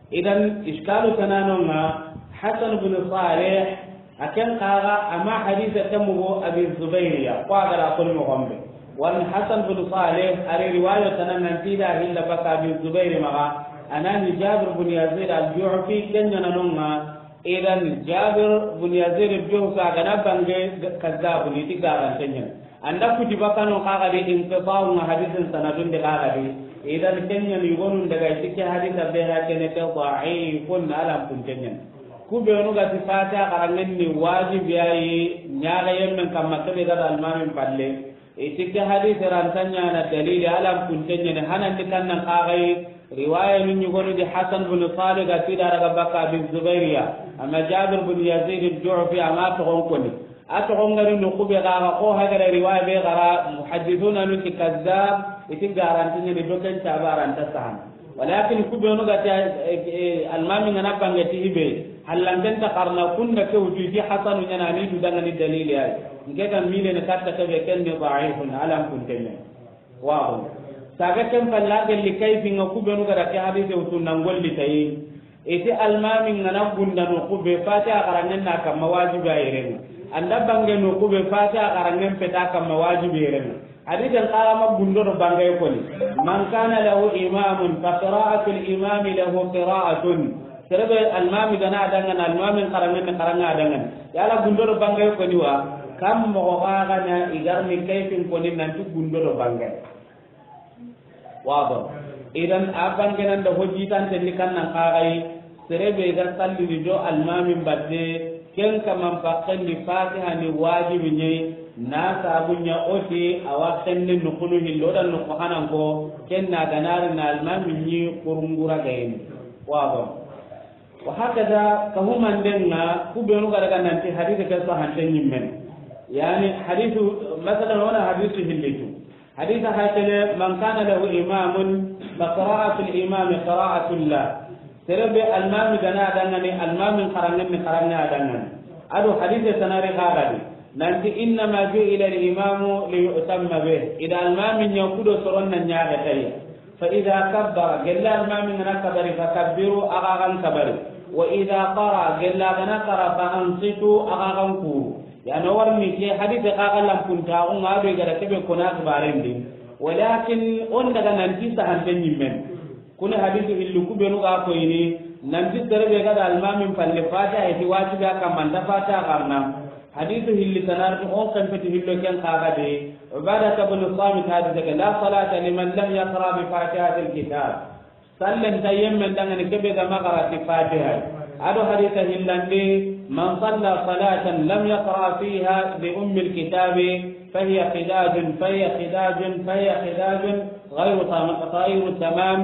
Idan, iskalu tananonga, Hasan bin Salih, a ken xaga, ama hadisa tamugo Abi Zubair ya, ko a gara koni moxombe. Wani Hasan bin Salih, ari riwayo tanan nan tida hilla baka Abi Zubair maxa, anani Jabir bin Yazid al-Ju'fi, kenya nanonga, Idan Jabir bin Yazid al-Ju'fi a gana bange kazzabu ni ti garantenyen. Anda kuti bakano kaga di inqita'u nga hadisin sanadun de kaga di. Idan kenya ni gonun daga iti ke hadisa be ha kene ke da'ifun alam puntenyen. Ku be nu ga ti Fatiha xaranŋen ni wajibi yayi ɲaga yemmen kamma kebe ga almamin palle. Iti ke hadisi ranta ɲana dalili, alam puntenyen, hanandi kannan kagai, riwaya nun ɲugonu di Hasan bin Salih ga tida daga baka Abi Zubair ya, ama Jabir bin Yazid al-Ju'fi ama togon koni. A togon gari no kube kaga ko hagara riwaya be gara muhaddithuna nun ti kazzab, iti garantenyen do ken tabaranta sahan. Walakin ku be nu ga ti, eh, eh, almami ngana bange ti hibe, hallanten ta karna kunda ke wutu ti Hasanu ɲana ni du dangani dalili ay. Nke ta mile ne katta ke be ken ni da'ifun alam puntenyen. Wa saga ken palla gelli kayfi nga ku be nu ga da ke hadise wutu nan golli tayi. Iti almami ngana gunda no kube Fatiha xaranŋen na kamma wajibi a yirenga. Anda bange no kube Fatiha xaranŋen peta kamma wajibi yirenga. Hadisen kaga ma gundo do bangay koni. Man kana lahu imamun fa qira'atul imami lahu qira'atun. Serebe almami gana dangan almamin xaranŋen xaranŋa dangan. Yala gundo do bangay koni wa kam mo kaga na igarni kayfin koni nanti gundo do bangay. Wado. Idan a bangenan da hojji tan tendi kannan kagai. Serebe ga sallini do almamin batte ken kaman pakkendi Fatiha ni wajibi ɲei. Na sabu ɲa o ti a wa xenne nuxunu hillo da nuxu hanan ko, ken na ganari na almami ɲi kurungura gayni. Wa bon. Wa hakaza, ka humanden ŋa, ku benu ga daga nanti hadisi ke sahante ɲimmen. Yani, hadisu, masalan, wona hadisu hillitu. Hadisa hakene, man kana lahu imamun, fa qira'atul imami qira'atullah. Sere be almami gana dangani, almamin xarangen ni xarange a dangani. Ado hadise tanari xaradi. Nanti, innama ju'ila al-imamu li yu'tamma bih. Ida almami ɲa kudo soron na ɲaxe tayya. Fa idha kabbara, gella almami ngana kabari, fa kabbiru, aga gan kabari. Wa idha qara, gella gana qara, fa ansitu, aga gan kuru. Yani o warni ke hadise xaxa lampuntaxu ŋa do i gada kebe kona xibarendi. Walakin on daga nanti sahante ɲimmen. Kuni hadisu hilli ku benu ga koyini nanti sere be gada almamin palle fatiha iti wajibi a kamma nta fatiha xarna. Hadisu hilli tanarti on kempeti hillo ken xaxa de. Ubadata bin Samit hadise ke, la salata liman lam yaqra bi fatihatil kitab. Sallen ta yemmen dangani kebe ga magarati fatiha. Ado hadisa hillandi, man salla salatan lam yaqra fiha bi ummil kitabi fahiya khidajun, fahiya khidajun, fahiya khidajun, ghayru tam-, ghayru tamam.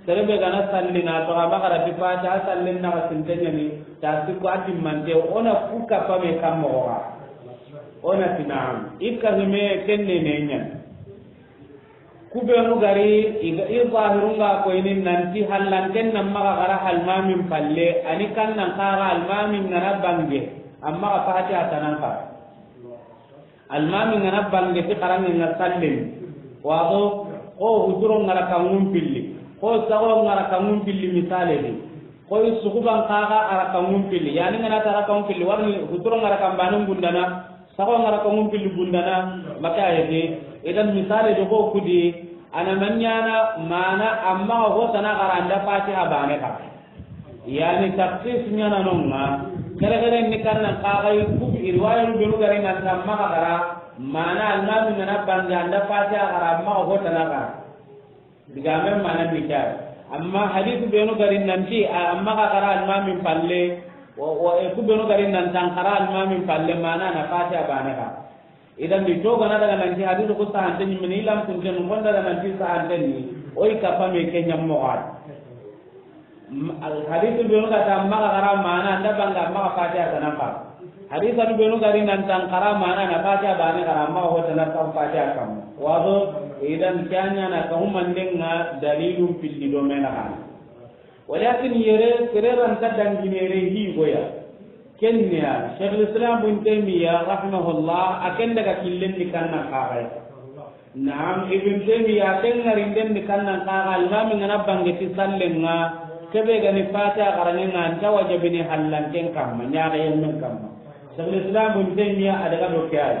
Sere be gana sallina to a magarati fatiha, sallen na sintenyani, ta sikko atimmante, ona kuka pame kammo ga. Ona tinam. Ikka hime kenne ne nyan. Ku benu gari i ga, i zahirun ga koyini nanti hallanten nan maxa xara almamin palle, ani kannan xara almamin ngana bange, amma xa fatiha tanan xara. Almamin ngana bange ti xarange nga sallen. Wato, ko huturo ngara kangun pilli, ko sago ngara kangun pilli misale di. Koy suxuban xaxa a rakanŋun pilli. Yani ngana ta rakanŋun pilli, warni huturo nga rakan banen bundana, saxo nga rakanŋun pilli bundana, maka yete. Idan misale do ko kudi, ana manyana mana amma ho tana xara anda fatiha bane xa. Yani taksis nyana nonga. Kere kere ni kannan xaxa ku riwaya benu gari nan tamma xara, mana almami ngana banga anda fatiha xara amma ho tana xara. Digamen mana ni kya. Amma hadithu benu gari nanti, a, amma xa xara almamin palle, wa, wa, e, ku benu gari nan tan xara almamin palle, mana na fatiha bane xa. Idan di to gana daga nanti hadithu ku sahante ni mini lam kun ten ko daga nanti sahante ni, o i kapame ke nyammo xa. M-, al hadithu benu ga ta amma xa xara mana, anda banga amma xa fatiha tana xa. Hadisa ni benu gari nan tan xara mana na fatiha bane xara amma ho tana xa fatiha kam. Wazo, idan kanya na ka humandenga dalilun pilli do mena xana. Walakin yere, sere ran ta dangine re hi goya. Kenya, Shaykhul Islam Ibn Taymiyyah rahimahullah, aken daga killen di kanna xaxay. Naam, Ibn Taymiyyah, ken ŋarinden ni kannan xaxa, almami ngana bange ti sallen ŋa, kebe gani fatiha xaranŋe ŋa, anta wajabini hallanken kamma, ɲaxeyemmen kamma. Shaykhul Islam Ibn Taymiyyah a daga do ke ay.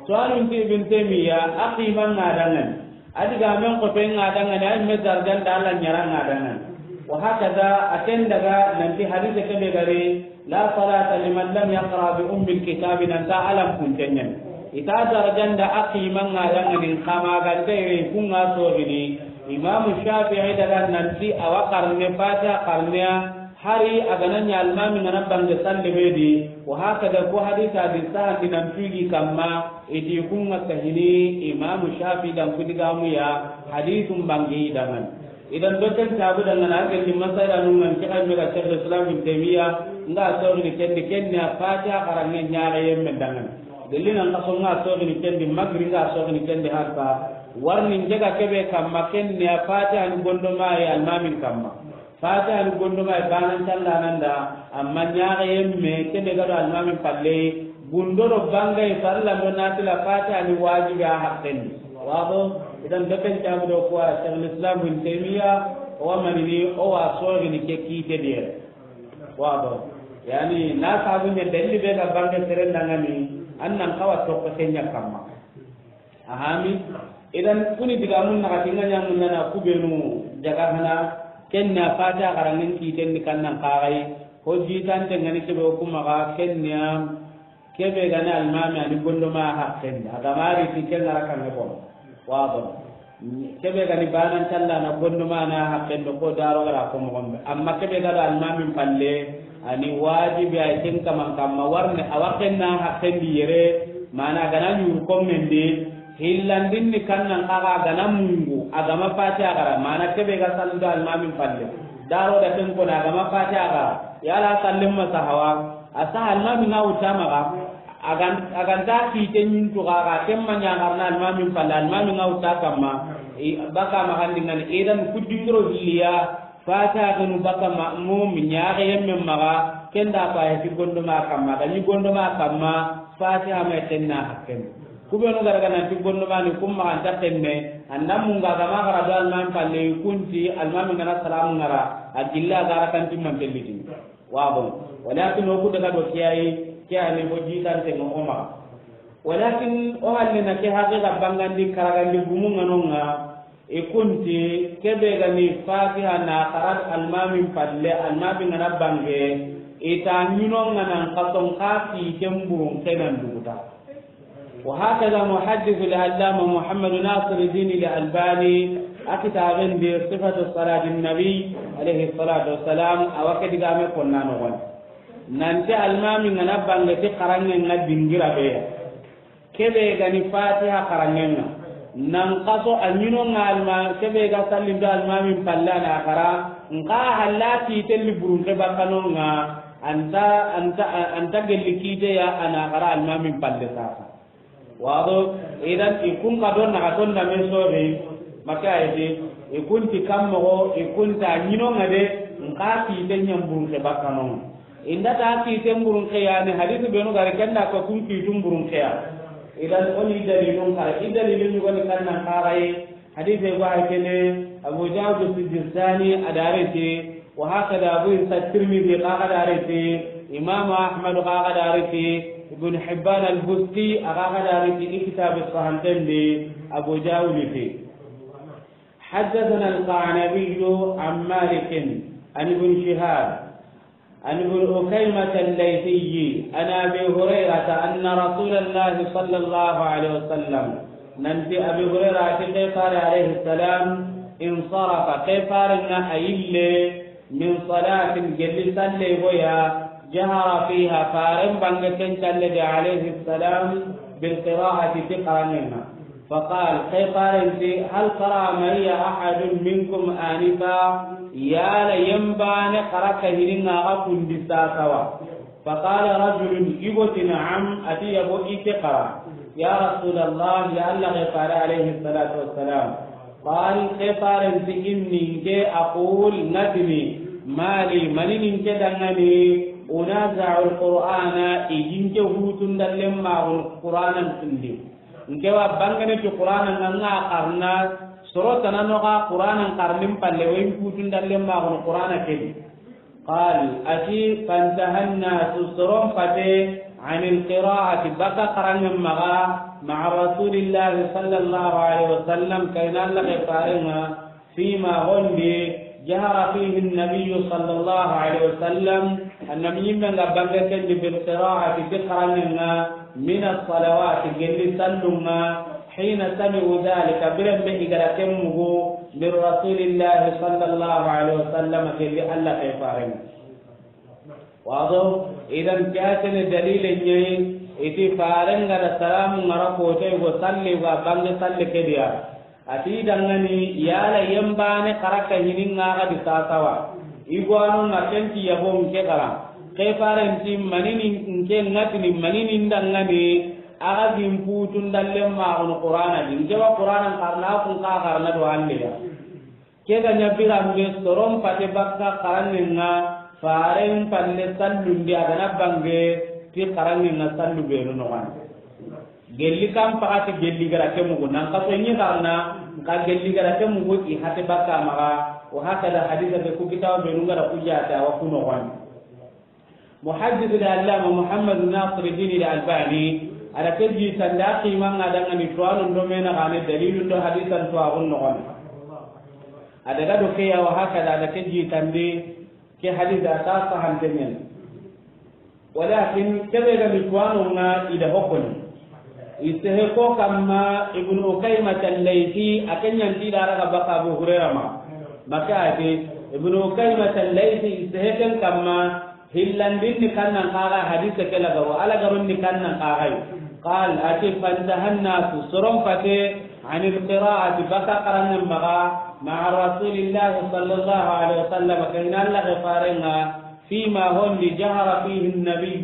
Sualun ti Ibn Taymiyyah, a qiman ŋa dangani. A digamen xotoyen ŋa dangani, a yimme darjan da Allah ɲaran ŋa dangani. Wa hakaza, a ken daga nanti hadise kebe gari, La salata liman lam yaqra bi ummil kitabi, nanta alam kuntenyen. Ita darajanda a qimanga dangani, kama ganta ire kunga sogini. Imam Shafi'i daga nanti awa qarne fatiha qarne ya, hari a gana ɲa almami ngana bange salle be di. Wa hakada ko hadisa di sahandi nan tugi kamma, iti kunga sahini. Imam Shafi'i dan kudigamu ya hadithun bangi dangan. Idan do ken tabu dangana, a gelli masala nu ngan ke ay mega Shaykhul Islam Ibn Taymiyyah nga sogini kendi, kenni a fatiha xaranŋe ɲaxeyemmen dangana. Gelli nan kaso nga sogini kendi, magri nga sogini kendi, harta warni njega kebe kamma, kenni a fatiha ni gondoma ye almamin kamma. Fatiha ni gondoma ye banan callananda, amma ɲaxeyemme kebe gado almamin palle. Gundo do bangay farilla do nafila, fatiha ni wajibi a haqqendi. Wado, idan do ken tabu do ko a Shaykhul Islam Ibn Taymiyyah, o wa manini, o wa sogini ke kite diye. Wado, yani na sabu ɲa dalili be ga bange seren dangani, annan kawa tokko kenya kamma. Ahami, idan kuni digamun na katinga ɲamun nana kubenu jaga hana, kenna fatiha xaranŋen kiten di kannan xaxay, ho jitante ngani kebe o kuma ga kenna. Kebe gani almami ani gondoma haqqendi, a gamari ti ken ngara kanne ko. Wado. Kebe gani banan callana gondoma na haqqendi ko daro gara ko mo gombe. Amma kebe gado almami palle, ani wajibi ay ken kaman kamma warne, a waqqen na haqqendi yere. Mana gana ñuru kommen di, hillandin ni kannan kaga gana mungu, a gama Fatiha gara, mana kebe ga sallu do almamin palle. Daro da ken kona a gama Fatiha gara, yala sallin ma sahawa, a sa almamin ga wuta maga, a gan-, a ganta kite ñintu kaga, ken ma ñagarna almamin palle, almamin ga wuta kamma, i, baka magandingani, idan kudingiro hilliya, Fatiha ganu baka ma'mum ñaxe yemme maxa, kenda faye ti gondoma kamma, da ñi gondoma kamma, Fatiha me tenna hakken. Kubenu gara gana ti gondoma ni kum maxa anta tenne, anda munga gama gara do almami palle kunti, almami gana salamu ngara, a gilla gara kan timman telliti. Wa bon. Walakin o ku daga do kiyayi, kiyani o jitan tengo o maxa. Walakin o halle na ke haqiqa bangandi karagandi gumu nganonga, I kunti, kebe gani Fatiha na xara almamin palle, almamin gana bange, i ta ñinonga nan xason xa kiten burun xenan duguta. وهكذا محدث العلامة محمد ناصر الدين الألباني a kitaben di صفة صلاة النبي عليه الصلاة والسلام, a wa ke digame konna noxon. Nanti almamin gana bange ti xarangen ŋa dingira beya. Kebe gani Fatiha xarangenga. Nan xaso a ñinonga alma, kebe ga sallindo almamin palle ana xara, nka halla kitelli burunke bakkanonga, anta, anta, anta gelli kiteya ana xara almamin palle sasa. Wado, idan i kun ka don naxa ton da men sobe, maka ayete, i kunti kammogo, i kunta ñinonga de, nka kite ñan burunke bakkanonga. Inda ta kiten burun xeya ni hadisi benu gari kenda ko kun kitun burun xeya. Idan oni dalilun kara. I dalilun yugoni kannan karaye. Hadisi go ay kene Abu Dawud Sijistani adarete. Wa hakada Abu Isa Tirmidhi qaga darete. Imam Ahmad qaga darete. Ibn Hibban al-Busti qaga darete. Kitab as-Sahihain de Abu Dawud fi. حدثنا القعنبي عن مالك عن ابن شهاب عن ابن أكيمة الليثي عن أبي هريرة أن رسول الله صلى الله عليه وسلم, nanti Abi Hurayra ti ke fare alayhi salam, insarafa, ke fare na a yille, min salatin, gelli salle goya, jahara fiha, faren bange ken salle de alayhi salam, bil qira'ati, ti xarangenga. فقال, ke farenti, هل قرأ معي أحد منكم آنفا؟ Yala yembane xara ka hininga ga kundi sasawa? فقال رجل, igo ti, نعم, ati yabo ike xara. يا رسول الله, ya Allah ke fare alayhi salatu wassalam. قال, ke farenti, إني, nke, أقول, ngatini, ما لي, mani ni nke dangani, أنازع القرآن, i gi nke hutun dallen maxun Qur'anan kundi. Nke wa bangene ti Qur'ana nga nga xarna, soro tanano ga Qur'ana xarnin palle, wa in kutun dallen maxun Qur'ana kedi. قال, ati, فانتهى الناس, soron pate, عن القراءة, baka xarangen maxa, مع رسول الله صلى الله عليه وسلم, kayna Allah ke farenga, فيما, hondi, جهر فيه النبي صلى الله عليه وسلم, annabi yimmen ga bange kendi, بالقراءة, ti xarangenga, من الصلوات, gelli sallunga, حين سمعوا ذلك, biren be i ga da ken mugu, من رسول الله صلى الله عليه وسلم, gelli Allah ke farenga. Wado, idan ke a tene dalile ñayi, iti farenga da salamu ngara kote go salli, wa bange salli kediya. Ati dangani, yala yembane xara ka hininga ga di sasawa? Igwano na kenti yabo nke xara. Ke farenti, mani ni nke ngatini, mani ni ndangani, a ga gin putun dallen maxun Qur'ana di. Nke wa Qur'ana xarna, kun ka xarna do halle ya. Ke ga ña biranbe soron pate bakka xarangenga, faren palle sallundi a ga na bange ti xarangenga sallu benu noxondi. Gelli kan paxati gelli gara ke mugu, nan xaso ñi xarna, nka gelli gara ke mugu i hate bakka maxa. Wa hakada hadisa ke ku kitabu benu ngara ku jata wa ku noxondi. Muhaddis al-allama Muhammad Nasir Din al-Albani, a da ke jitandi a ximanga dangani tuwanu ndo mena gane dalilun do hadisan tuwaxun noxondi. A daga do ke ya wa hakada, a da ke jitandi ke hadisa ta sahanten ñani. Walakin kebe ga ni tuwanonga i da hokoni. I sehe ko kamma Ibnu Ukaymat al-Laythi, a ke ñanti da raga baka Abu Hurayra ma. Maka ati, Ibnu Ukaymat al-Laythi, i sehe ken kamma, hillandin ni kannan kaga hadise ke lagaro, a lagaron ni kannan kaga. قال, a ti, فانتهى الناس, soron fate, عن القراءة, baka xaraŋen maxa, مع رسول الله صلى الله عليه وسلم, ke na Alla ke farenŋa, فيما, hon di, جهر فيه النبي,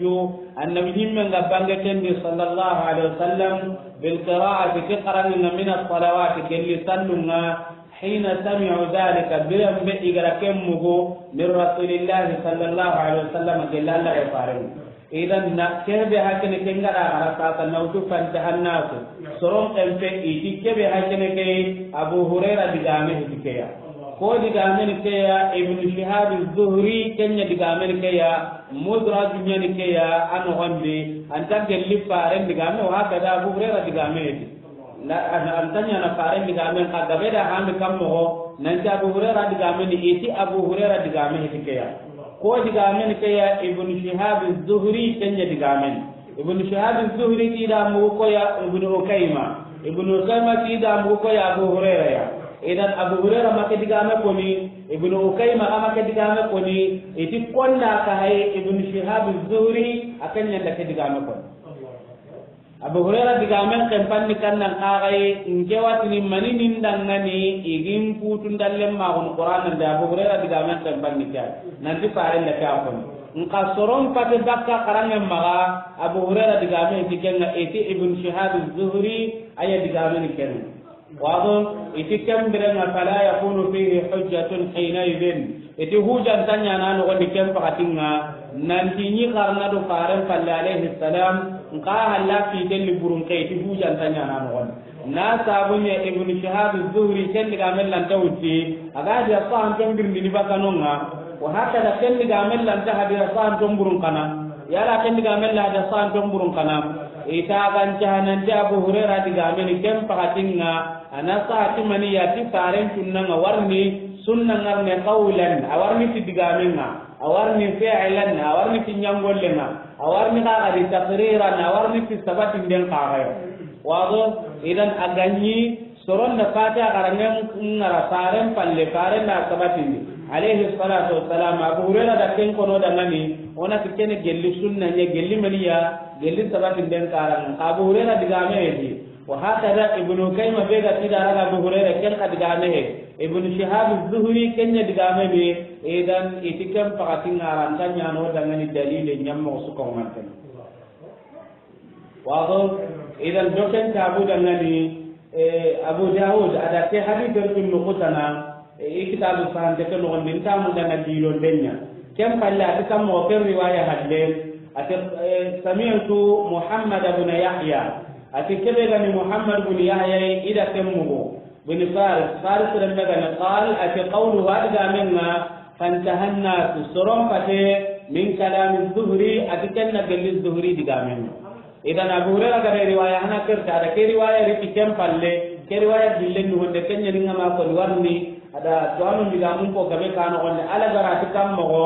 annabi ɲimmen ga bange ken di, صلى الله عليه وسلم, بالقراءة, ke xaraŋen ŋa, من الصلوات, gelli sallun ŋa, حين سمعوا ذلك, biren be i ga ra ken mugu, من رسول الله صلى الله عليه وسلم, gelli Alla ke farenŋa. Idan na kebe hakene ke nga da gara sasa na wutu فانتهى الناس. Soron kempe i ti kebe hakene ke Abu Huraira digame hiti ke ya. Ko digame ni ke ya Ibn Shihab az-Zuhri kenya digame ni ke ya, mudraj nya ni ke ya, ano gombe anta gelli faren digame, wa hakada Abu Huraira digame hiti. La, an, an tanya na faren digamen ka gabe da hami kam mogo, nan ti Abu Huraira digamen, i ti Abu Huraira digamen hiti ke ya. Ko digamen ke ya Ibn Shihab az-Zuhri kenya digamen. Ibn Shihab az-Zuhri ti da mu ko ya Ibn Ukayma. Ibn Ukayma ti da mu ko ya Abu Huraira ya. Idan Abu Huraira ma ke digame koni, Ibn Ukayma ma ke digame koni, i ti konda ka hay Ibn Shihab az-Zuhri a kenya da ke digame koni. Abu Huraira digamen kempanni kannan kaxaye, nke watini mani nin dangani, igin kutun dallen maxun Qur'an nande Abu Huraira digamen kempanni ke, nanti faren da ke a koni. Nka soron pate bakka xarangen maxa, Abu Huraira digamen ti kenga, iti Ibn Shihab az-Zuhri aya digamen kenga. Wado, iti ken birenga فلا يكون فيه حجة حينئذ. Iti hujanta ɲana noxondi ken pakatinga, nanti ɲi xarna do faren palle alayhi salam, nka halla fitelli burun ke, iti hujanta ɲana noxondi. Na sabunya Ibn Shihab az-Zuhri ken digamen lanta wutti, aga hadiya sahanton birndini bakanonga, wa hakada ken digamen lanta hadiya sahanton burun kana, yala ken digamen la hadiya sahanton burun kana, ita gancaha nanti Abu Huraira digamen ken pakatinga, Ana sahati mani ya ti faren tunnanga warni sunna ngarne qawlan, a warni ti digamenga, a warni fi'lan, a warni ti ɲangollenga, a warni kaga di taqriran, a warni ti sabatinden kaga yo. Wado, idan a ganyi soron da fata garangen ngara faren palle, faren da sabatindi. Alayhi salatu wassalam, Abu Hurairah da ken kono da ngani, ona ti kene gelli sunna ɲa, gelli maniya, gelli sabatinden karanga. Abu Hurairah digame di. Wa hakada Ibnu Kayma be ga ti da raga Abu Hurayra ken xa digame he. Ibnu Shihab Zuhri ken ɲa digame ni, idan iti ken pakati ŋaranta ɲano dangani dalile ɲammo su ko manten. Wado, idan do ken ta Abu dangani, eh, Abu Dawud a da ke hadith tun nukutana, eh, i kitabu sahante ke nogondi nta mu danga dilon denya. Ken palle a ti kammo ken riwaya hadle, a ti, eh, sami'tu Muhammad ibn Yahya. A ti kebe gani Muhammad bin Yahya i da ken mugu. Bin Faris, Faris rembe gani qal, a ti qawluhu a digamenga, fantaha nnasu, soron pate, min kalami Zuhri, a ti ken na gelli Zuhri digamenga. Idan Abu Hurairah gada riwaya hana kerta, a da ke riwaya riti ken palle, ke riwaya dillen ni honde ken ɲa ni ngama ko ni warni, a da to anu digamun ko gabe kano honde, ala gara ti kammo go,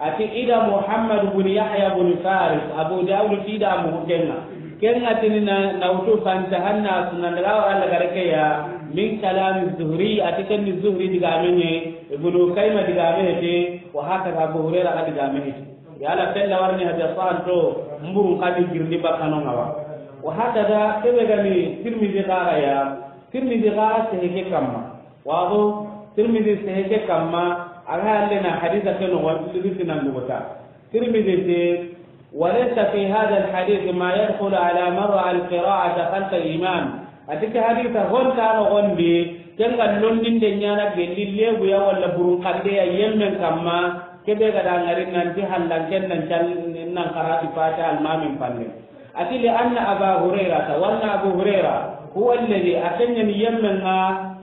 A ti i da Muhammad bin Yahya bin Faris, Abu Dawud ti da mugu kenga. Kenga tini na, na wutu fantaha nnasu nan daga wara lagare ke ya, min kalami Zuhri, a ti ken ni Zuhri digame ɲa, Ibnu Kayma digame hete, wa hakada Abu Hurairah ga digame hete. Yala fella warni hadiya sahanto, mburun kadi girni bakano ngawa. Wa hakada kebe gani Tirmidhi ga ya, Tirmidhi ga sehe ke kamma. Wado, Tirmidhi sehe ke kamma, a ga halle na hadisa ke nogo, Tirmidhi nan dugota. Tirmidhi ti, وليس في هذا الحديث ما يدخل على من رأى القراءة خلف الإمام. A ti ke hadisa honta nogondi, kenga londinde ɲana gelli lebu ya walla burun kande ya yemmen kamma, kebe ga da ngari nanti hallanken nan cal nan karati fata almamin palle. A ti, لأن أبا هريرة, wa anna Abu Hurairah, هو الذي, a ken ɲa ni yemmenga,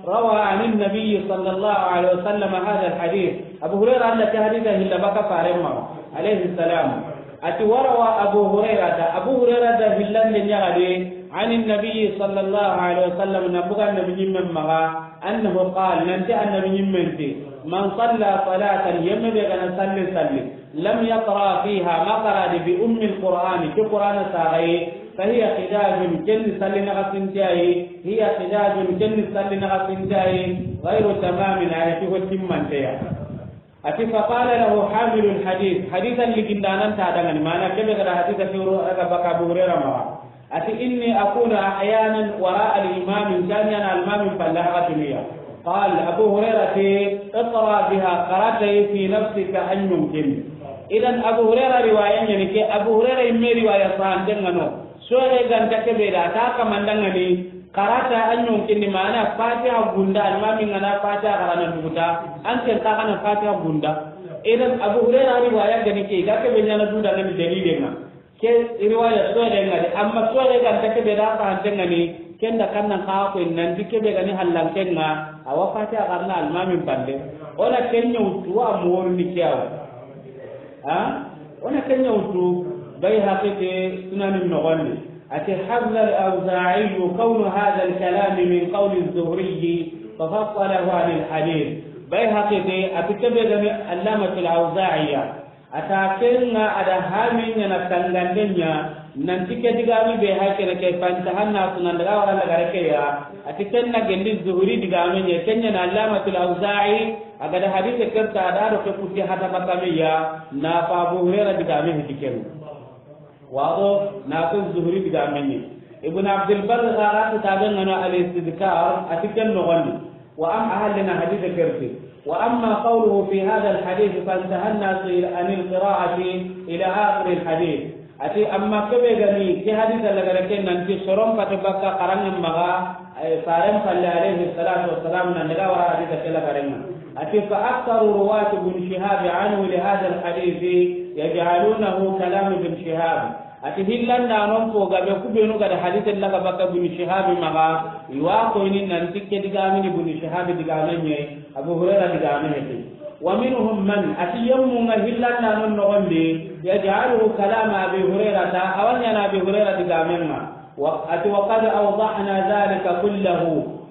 روى عن النبي صلى الله عليه وسلم هذا الحديث. Abu Hurairah anda ke hadisa hilla baka faren ma, alayhi salam. A ti, وروى أبو هريرة, Abu Hurairah da hillande ɲa gade, عن النبي صلى الله عليه وسلم, na buga Annabi ɲimmen maga, أنه قال, nanti Annabi ɲimmen ti, من صلى صلاة, yemme be gana salli salli, لم يقرأ فيها, ma qaradi, بأم القرآن, ti Qur'ana sagaye, فهي خداج, ken ni salli naga sintiyaye, هي خداج, ken ni salli naga sintiyaye, غير تمام, a ya ti ho timmanteya. A ti, فقال له حامل الحديث, hadisa ligindanan ta dangani, mana kebe gada hadisa kewro aga baka Abu Hurairah maga. A ti, إني أكون أحيانا وراء الإمام, n ke ɲaana almaamin falle waxatunu ya. قال, Abu Hurayra ti, اقرأ بها, xara a yi في نفسك, an ɲonkin. Idan Abu Hurayra riwaya ɲa ni ke, Abu Hurayra yimme riwaya sahanten ŋa no. Sooxe ga nta ke be da, a ta kamandan ŋa ni, xara a yi an ɲonkin ni, maana Fatiha gunda, almaamin ga na Fatiha xara na duguta, an ken xa ga na Fatiha gunda. Idan Abu Hurayra riwaya ga ni ke, ga ke be ɲaana du da ŋa ni dalilen ŋa. Ke riwaya sooxe ŋa de, amma sooxe ga nta ke be da sahanten ŋa ni, ken da kannan xa ko nanti ke be ga ni hallanken ŋa, a wa Fatiha xarana almaamin falle. O na ken ɲa wutu, wa moru ni ke ya wa. Ha? O na ken ɲa wutu, Bayhaqi ti Sunanin noxon di. A ti, حفظ الأوزاعي كون هذا الكلام من قول الزهري ففصله عن الحديث. Bayhaqi ti, a ti ke be ga ni Allamatul Awza'i ya. A ta ken ŋa a da hami ɲaana tangande ɲa, nanti ke digaame be ha ke na ke فانتهى الناس nan daga wara lagare ke ya. A ti ken na gelli Zuhri digaame ɲa, ken ɲa na Allamatul Awza'i, a ga da hadise ke ta a da do ke kutti hada bakame ya, na fa Abu Hurayra digaame heti ken. Wado na ko Zuhri digaame ɲa. Ibn Abdul Barr ga ra kitaabe ŋa no Al-Istidhkar, a ti ken noxon di. Wa am-, a halle na hadise ke ri ti. وأما قوله في هذا الحديث فانتهى الناس عن القراءة إلى آخر الحديث. A ti amma ke be ga ni ke hadise lagare ke nanti soron fate bakka xaranŋa maxa, ay, faren falle alayhi salatu wassalam nan daga wara hadise ke lagare ŋa. A ti فأكثر رواة ابن شهاب عنه لهذا الحديث يجعلونه كلام ابن شهاب. A ti hillandanon fo gabe ku benu ga da hadise laga bakka Ibn Shihab maxa, i wa koyini nanti ke digaamini Ibn Shihab digaame ɲa yi, Abu Hurayra digaame heti. ومنهم من, a ti yemmu ŋa hillandanon noxon di, يجعله كلام أبي هريرة, a wa ɲaana Abi Hurayra digaamen ŋa. Wa, a ti وقد أوضحنا ذلك كله.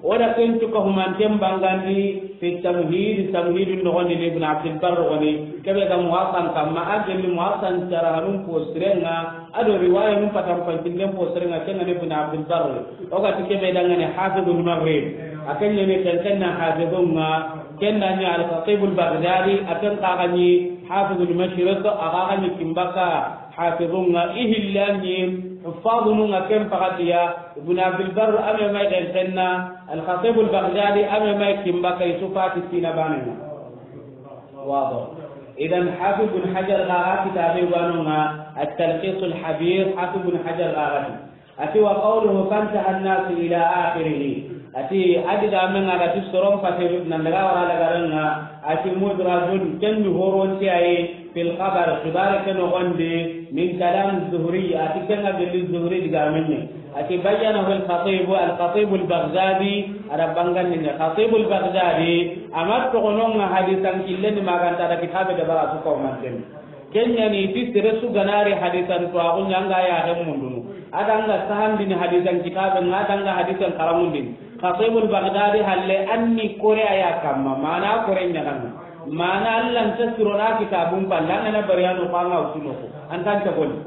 O da ken cuka humanten bangandi في التمهيد, Tamhidun noxon di, Ibn Abdul Barr goni, ke be ga Muwatta kamma, a gelli Muwatta sarahanun fo siren ŋa, a do riwaya nun patan pancinden fo siren ŋa, ken ŋa ni Ibn Abdul Barr. O ga ti ke be da ŋa ni Hafidul Maghrib. A ken ɲa ni ken ken na Hafidun ŋa, ken da ɲa Al-Khatibul Baghdadi, a ken xa ga ɲi Hafidul Mashriq, a xa ga ɲi ken bakka Hafidun ŋa, i hillan ɲi Huffazun ŋa ken paxati ya, Ibn Abdul Barr a me may ken ken na, Al-Khatibul Baghdadi a me may ken bakka, i su fati sina baane ŋa. Wado. Idan Hafiz Ibn Hajar ga ra kitaabe wa no ŋa, At-Talkhisul Habir, Hafiz Ibn Hajar ga ra ti. A ti وقوله فانتهى الناس إلى آخره. A ti a digaame ŋa ga ti soron fate nan daga wara lagare ŋa, a ti مدرج, ken ni horonte ya yi, في الخبر, xibaare ke noxon di, من كلام الزهري, a ti ken ŋa gelli Zuhri digaame ɲa yi. A ti بينه الخطيب, Al-Khatibul Baghdadi, a da bangandi ɲa. Khatibul Baghdadi, a ma toxono ŋa hadisan killen di ma ga nta da kitaabe dabari a su ko manten. Ken ɲa ni ti sere su ga na ri hadisan tuwaaxu ɲa ŋa ya ga mundunu. A da ŋa sahandini hadisan kitaabe ŋa, a da ŋa hadisan xaranŋundini. Khatibul Baghdadi halle a ni kore a ya kamma, maana kore ɲaana ŋa. Maana Alla nta sirona kitaabun falle, a ŋa na bari a no xa ŋa wutu no ko. An ta n ta goni.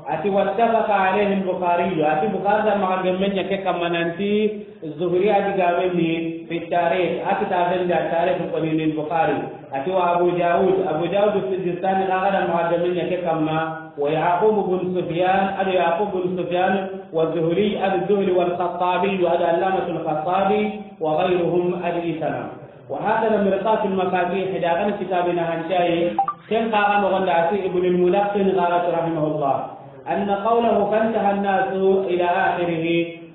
A ti واتفق عليه البخاري, a ti Bukhari da maxa gemme ɲa ke kamma nanti Zuhri a digaame ni في التاريخ, a kitaaben di At-Tarikh ko ni Bukhari. A ti وأبو داود, Abu Dawud Sijistani xa ga da maxa gemme ɲa ke kamma, ويعقوب بن سفيان, a do Yaqub bin Sufyan, والزهري, a do Zuhri, والخطابي, a do Allamatul Khattabi, وغيرهم, a do i tana. وهكذا مرقاة المفاتيح, da ga na kitaabe na hancayi, ken xa ga noxon di a ti Ibn al-Mulaqqin ga ra ti رحمه الله, أن قوله فانتهى الناس إلى آخره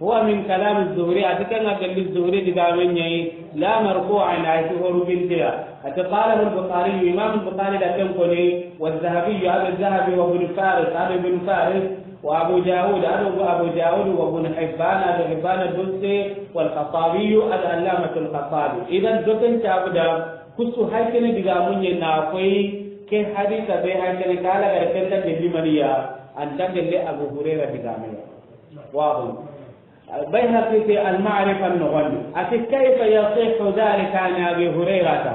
هو من كلام الزهري, a ti ken ŋa gelli Zuhri digaame ɲa yi, لا مرفوعا, a yi ti horu binte ya. A ti قاله البخاري, Imam Bukhari da ken ko ni, والذهبي, a do Zahabi, وابن فارس, a do Ibn Faris, وأبو داود, a do Abu Dawud, وابن حبان, a do Hibban al-Busti, والخطابي, a do Allamatul Khattabi. Idan do ken cabu da, kusu hay kene digaamu ɲa na koyi, ke hadisa be hay kene kala ga ken ta gelli mani ya, an ta gelli Abu Hurayra digaame ya. Wado. Bayhaqi ti Al-Ma'rifa noxon di. A ti كيف يصح ذلك عن أبي هريرة.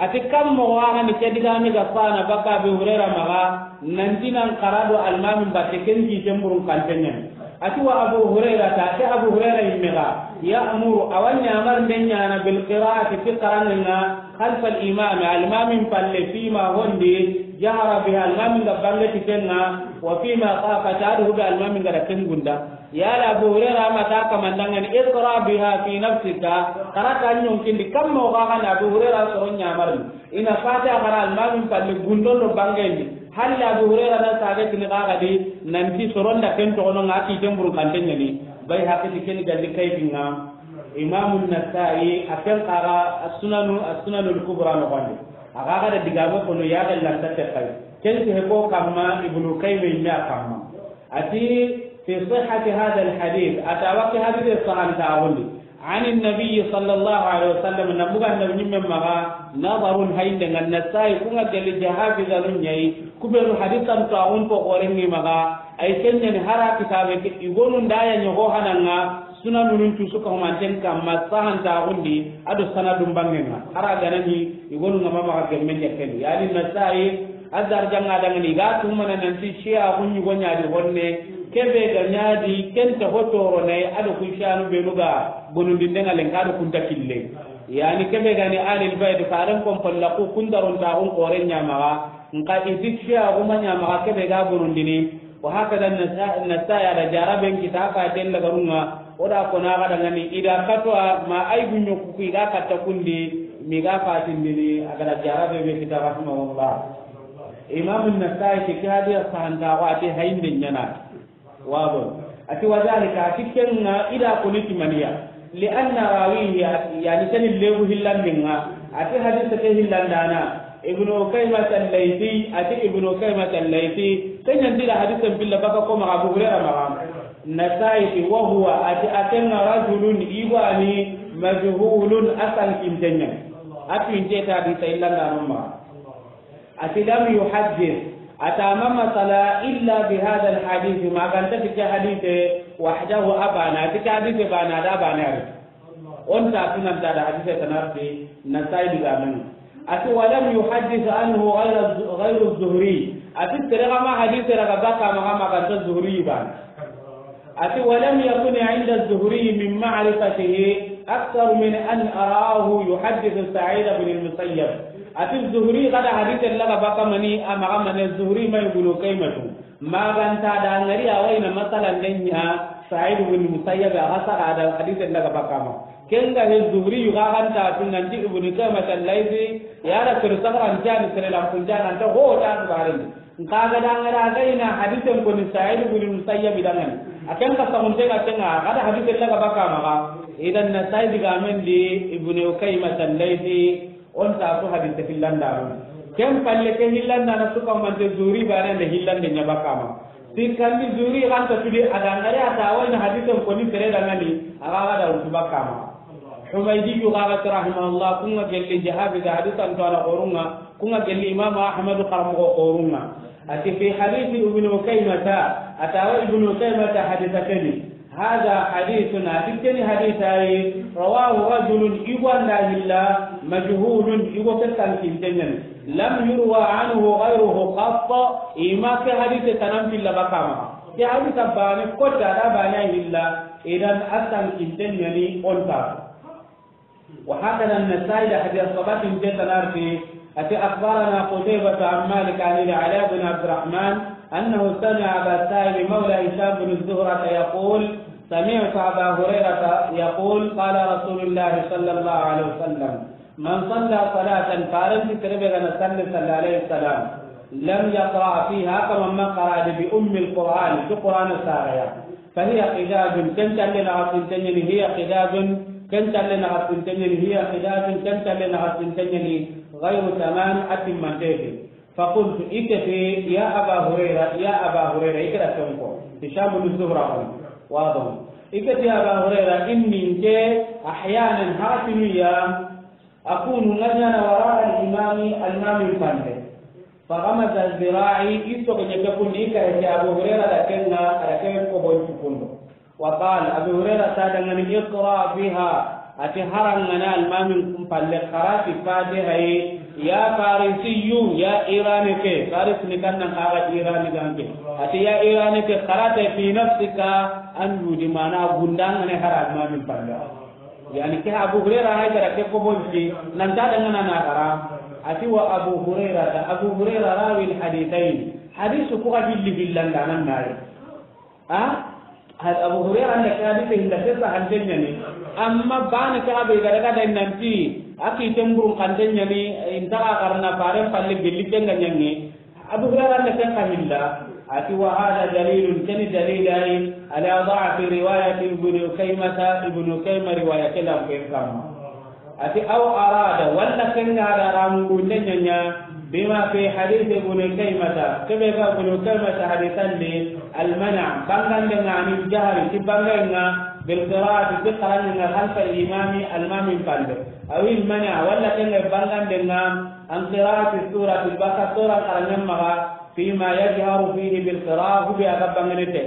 A ti kam moxo wa ga ni ke digaame ga fana bakka Abi Hurayra maxa, nanti nan xara do almaamin batte ken ti temburun kanten ɲa ni. A ti وأبو هريرة, a ti Abu Hurayra yimme ga, يأمر, a wa ɲamarinde ɲaana بالقراءة, ti xaranŋen ŋa, خلف الإمام, almamin palle, فيما, hondi, جهر بها, almamin ga bange ti ken ŋa, وفيما خفت, a do hube almamin ga da ken gunda. Yala Abu Hurayra ma ta kamandangani, اقرأ بها في نفسك, xara ta ɲonkindi, kamma o ga ga na Abu Hurayra soron ɲamarni. I na Fatiha xara almamin palle gundon do bangendi. Halla Abu Hurayra na saga tini ga ga di, nanti soron da ken toxono ŋa, a kiten burun kanten ɲa ni. Bayhaqi ti ken ga di kayfin ŋa. Imamu Nasa'i, a ken xara as-sunanu, as-sunanul kubra noxondi. A ga ga da digame kono ya ga lanta te kay. Ken ti he ko kamma Ibnu Kayyim me a kamma. A ti, في صحة هذا الحديث, a ta wa ke hadise sahantaxundi. عن النبي صلى الله عليه وسلم, na buga Annabi ɲimme maxa, نظر, hayinde ŋa. Nasa'i, ku ŋa geli jahabi zanu ɲa yi, ku benu hadisan to axun ko xoren ŋi maxa, ay ken ɲa ni hara kitabe ke, i gonu nda ya ɲogo hananga, sunanunun cusu ka humanten kamma sahantaxundi, a do sanadun bangen ŋa. Hara ga na ɲi, i gonu ŋa ma maxa gemmen ɲa ken. Yani Nasa'i, a darjanga dangani, i ga tumana nanti Shia ku ɲugo ɲa di honne, kebe ga ɲa di, ken ta ho toro ne, a do ku Shianu benu ga, bonundinde ŋa lenka do kunta kille. Yani kebe ga ni Ahlul Bayt, faren kon polla ku kundaron ta kun xoren ɲa maxa, nka i ti Shia ku ma ɲa maxa kebe ga bonundini, وهكذا النسا-، النسائي, a da jaraben kita ka tella garunga, o da kona ga dangani, i da katwa ma ay gunyo ku i ga katta kundi, mi ga fatindini, a ga da jarabe be kita, rahimahullah. Imam Nasa'i ke kadi sahanta wa ti hayinde ɲa na. Wabo. A ti, وذلك, a ti ken ŋa i da koni ti maniya. لأن راويه, yani ken lebu hillandin ŋa. A ti hadise ke hillandana. Ibnu Ukaymata al-Laythi, a ti Ibnu Ukaymata al-Laythi, ken ɲa nti da hadisen pilla baka ko maxa Abu Hurayra maxa. Nasa'i ti, وهو, a ti a ken ŋa رجل, i wa ni, مجهول, a sankinte ɲa ni. A tuwinte ta hadise hillandana maxa. A ti, لم يحدث, a ta ma masala, إلا بهذا الحديث, ma ga nta ti ke hadise, وحده, a bane, a ti ke hadise bane, a da bane ari. O nta tunanta da hadise tana ri, Nasa'i digamen ŋa. A ti, ولم يحدث عنه غير الز-، غير الزهري. A ti sere ga ma hadise raga baka maxa ma ga nta Zuhri bane. A ti, ولم يكن عند الزهري من معرفته أكثر من أن رآه يحدث سعيد بن المسيب. A ti Zuhri ga da hadise laga baka mani, a maxa mane Zuhri ma Ibnu Ukaymatu. Ma ga nta da ngari a wa i na masalan den ɲa Sa'id ibn Musayyab, a ga saga da hadise laga baka ma. Ken ga he Zuhri yu ga ga nta tun nanti Ibnu Ukaymata al-Laythi, ya da kir sagaran jani sere lampun jani anta ho ta barin. Nka ga da ngara ga i na hadisen koni Sa'id ibn Musayyab dangani. A ken ka sagunte ga ken ŋa, ga da hadisen laga baka maxa. Idan Nasa'i digamen di Ibnu Ukaymata al-Laythi. O nta su hadise hillandana. Ken palle ke hillandana su ka mante Zuhri bane nda hillande ɲa baka ma. Sikkandi Zuhri ga nta tudi a da ngari a ta wa i na hadisen koni sere dangani, a ga ga da wutu baka ma. Humaydi yu ga ga ti rahimahullah, ku ŋa gelli jahabi ga hadisan to a na xorun ŋa, ku ŋa gelli Imam Ahmadu xaramoxo xorun ŋa. A ti في حديث ابن أكيمة, a ta wa Ibnu Ukaymata hadise ke ni. هذا حديث, a ti ke ni hadise yi, رواه رجل, i wa nda hilla, مجهول, i wa ke sankinte ɲa ni. لم يروى عنه غيره قط, i ma ke hadise tana n pilla baka ma. Ke hadise bane kota da bane hilla, idan a sankinte ɲa ni o nta. وهكذا النسائي da hadise sabati nte tana ri, a ti أخبرنا قتيبة عن مالك عن العلاء بن عبد الرحمن أنه سمع أبا السائب مولى هشام بن زهرة يقول: سمعت أبا هريرة يقول: قال رسول الله صلى الله عليه وسلم: من صلى صلاة, faranti sere be ga na salli, صلى عليه السلام, لم يقرأ فيها كما ما قرأ بأم القرآن, ti Qur'ana saga ya. فهي قداد, ken talle na xasinte ɲa ni, هي قداد, ken talle na xasinte ɲa ni, هي قداد, ken talle na xasinte ɲa ni, غير تمام, a timmante ke. فقلت, i ke ti, يا أبا هريرة, يا أبا هريرة, i ke da tonko. هشام بن زهرة on. واضح. I ke ti, يا أبا هريرة, إني, nke, أحيانا, haxatinu ya, أكون, nga ɲaana, وراء الإمام, almamin palle. فغمز ذراعي, i sogo ɲa ke kundi, i kare ke Abu Hurayra da ken ŋa, a da ke ko bon cukundo. وقال, Abu Hurayra ta dangani, اقرأ بها, a ti haranŋana almamin kun palle, xara ti Fatiha yi, يا فارسي, ya Irani ke, Faris ni kannan xaga Irani ganke. A ti ya Irani ke, xara ta في نفسك, an dudi mana gundangane hara almamin palle. Yani ke Abu Huraira hay gara ke ko bonti, nan ta dangana na gara. Ati wa Abu Huraira, ta Abu Huraira rawi al-hadithayn. Hadisu ku ga hilli hillanda nan nayi. Ha? Had-, Abu Huraira nda ke hadise hinda sesa hanten ɲani. Amma bana ke abe ga daga da nanti, a ki temburun kanten ɲani, inta ga karna faren palle gelli kenga ɲangi. Abu Huraira nda ken ka hilla. Ati wa hada dalilun, keni dalilai, ala da'fi riwayati Ibn Ukaymata, Ibn Ukayma riwaya ke lampen kamma. Ati aw arada, walla ken ga da ramu gunde ɲaɲa, bima fi hadith Ibn Ukaymata, kebe ga Ibn Ukaymata hadisan di, al-mana', bangande nga anil jahri, ti bangenga, bil qira'ati, ti qaranga khalfa al-imami, al-imamin palle. Aw al-mana', walla ken ga bangande nga, an qira'ati surati, baka sura qarangen maga, fima yajharu fihi bil qira'a, hube aga bangene te.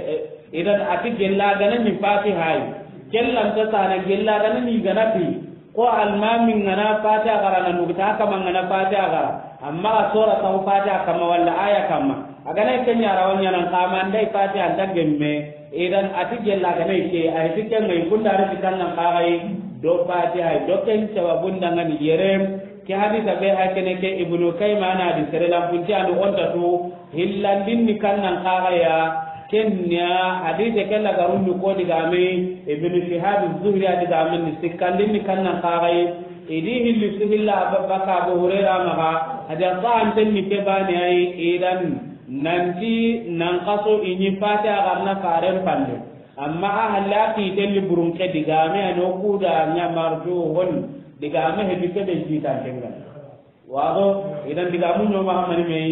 Idan ati gella gana ni Fatiha yi. Kellan ta sana gella gana ni gana ti. Ko almamin gana Fatiha gara na nugta kama gana Fatiha gara. Amma a sura ta Fatiha kama walla aya kama. Agana kenya rawan ɲanan kama ndai Fatiha anta gemme. Idan ati gella gana ke, ay tikan ngai kunda ri tikan nan kagai do Fatiha do ken sababun dangan yere. Ke hadisa be hakene ke Ibnu Kayma na di sere lampunti anu onta tu hillandin ni kannan kagaya. Kenya hadise ke la garundu ko digame Ibnu Shihab Zuhri a digame ni sikkandin ni kannan kagaye. Idi hilli su hilla baka Abu Huraira maga hada sa'anten ni ke bane ay idan nanti nan kaso ini Fatiha garna faren palle. Amma a halla ki telli burun ke digame ano kuda nya marju hon digame he bi ke be jitan tengal. Wado idan digamu ɲoma mani me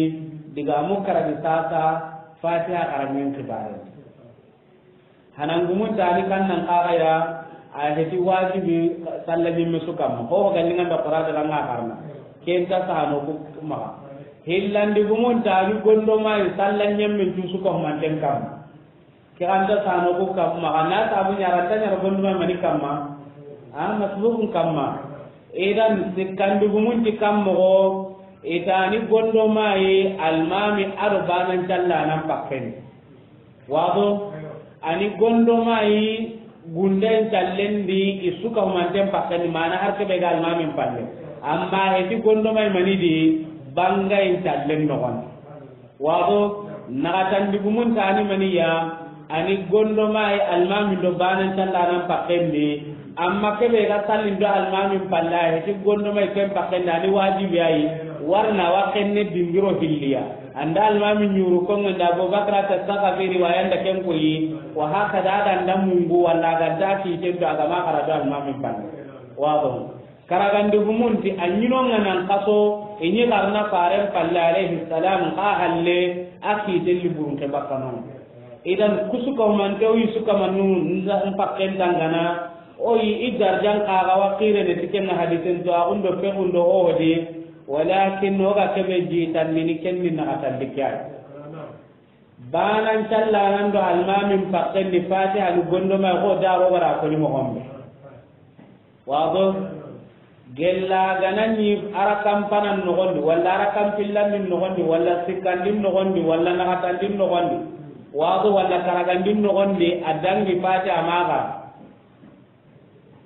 digamu karagi sasa Fatiha karamin kibare. Hanangumun tani kannan kagaya a heti wajibi sallan ɲimme su kamma ho galingan da qur'an da nga karna. Kenta sano ku maga hillandi gumun tani gondo mai sallan ɲimme su ko manten kamma. Ke ganta sano ku kamma, ga na sabu ɲara ta ɲara gonduma mani kamma. A masbukun kamma. Idan sikkandugumunti kammogo, itani gondomayi almami ado banan callanan pakkeni. Wado, ani gondomayi gunden callendi isuka humanten pakkeni, mana har kebe ga almamin palle. Amma heti gondomayi manidi bangayin callen nogondi. Wado, naxatandi gumun tani maniya, ani gondomayi almamin do banan callanan pakkendi, amma kebe ga sallin do almamin palla, heti gondomayi ken pakkendi, ani wajibi ayi, warna wa kenne dingiro hilliya. Anda almamin ɲuru kongo nda Abubakar ta saka fi riwaya nda ken koyi, wa hakada ada nda mungu walla aga da ki tento aga ma xara do almamin palla. Wado. Karagandi gumunti a ɲinonga nan kaso, i ɲi garna faren palle alayhi salam, ka halle a kitelli burunke bakkanon. Idan kusuka humante o yi suka manu nza mpakken tangana, o yi i darjan kaga wa kirene tikenga hadisen to, a gundo fe gundo o hodi, walakin o ga kebe ji tannini kenni na atandikya. Banan callanan do almamin pakken ni Fatiha ni gondoma ko daro gara ko ni mo gombe. Wado, gella ganani arakan panan nogondi, walla arakan pillanin nogondi, walla sikkandin nogondi, walla naxatandin nogondi. Wado, walla karagandin nogondi, a dangi Fatiha maga.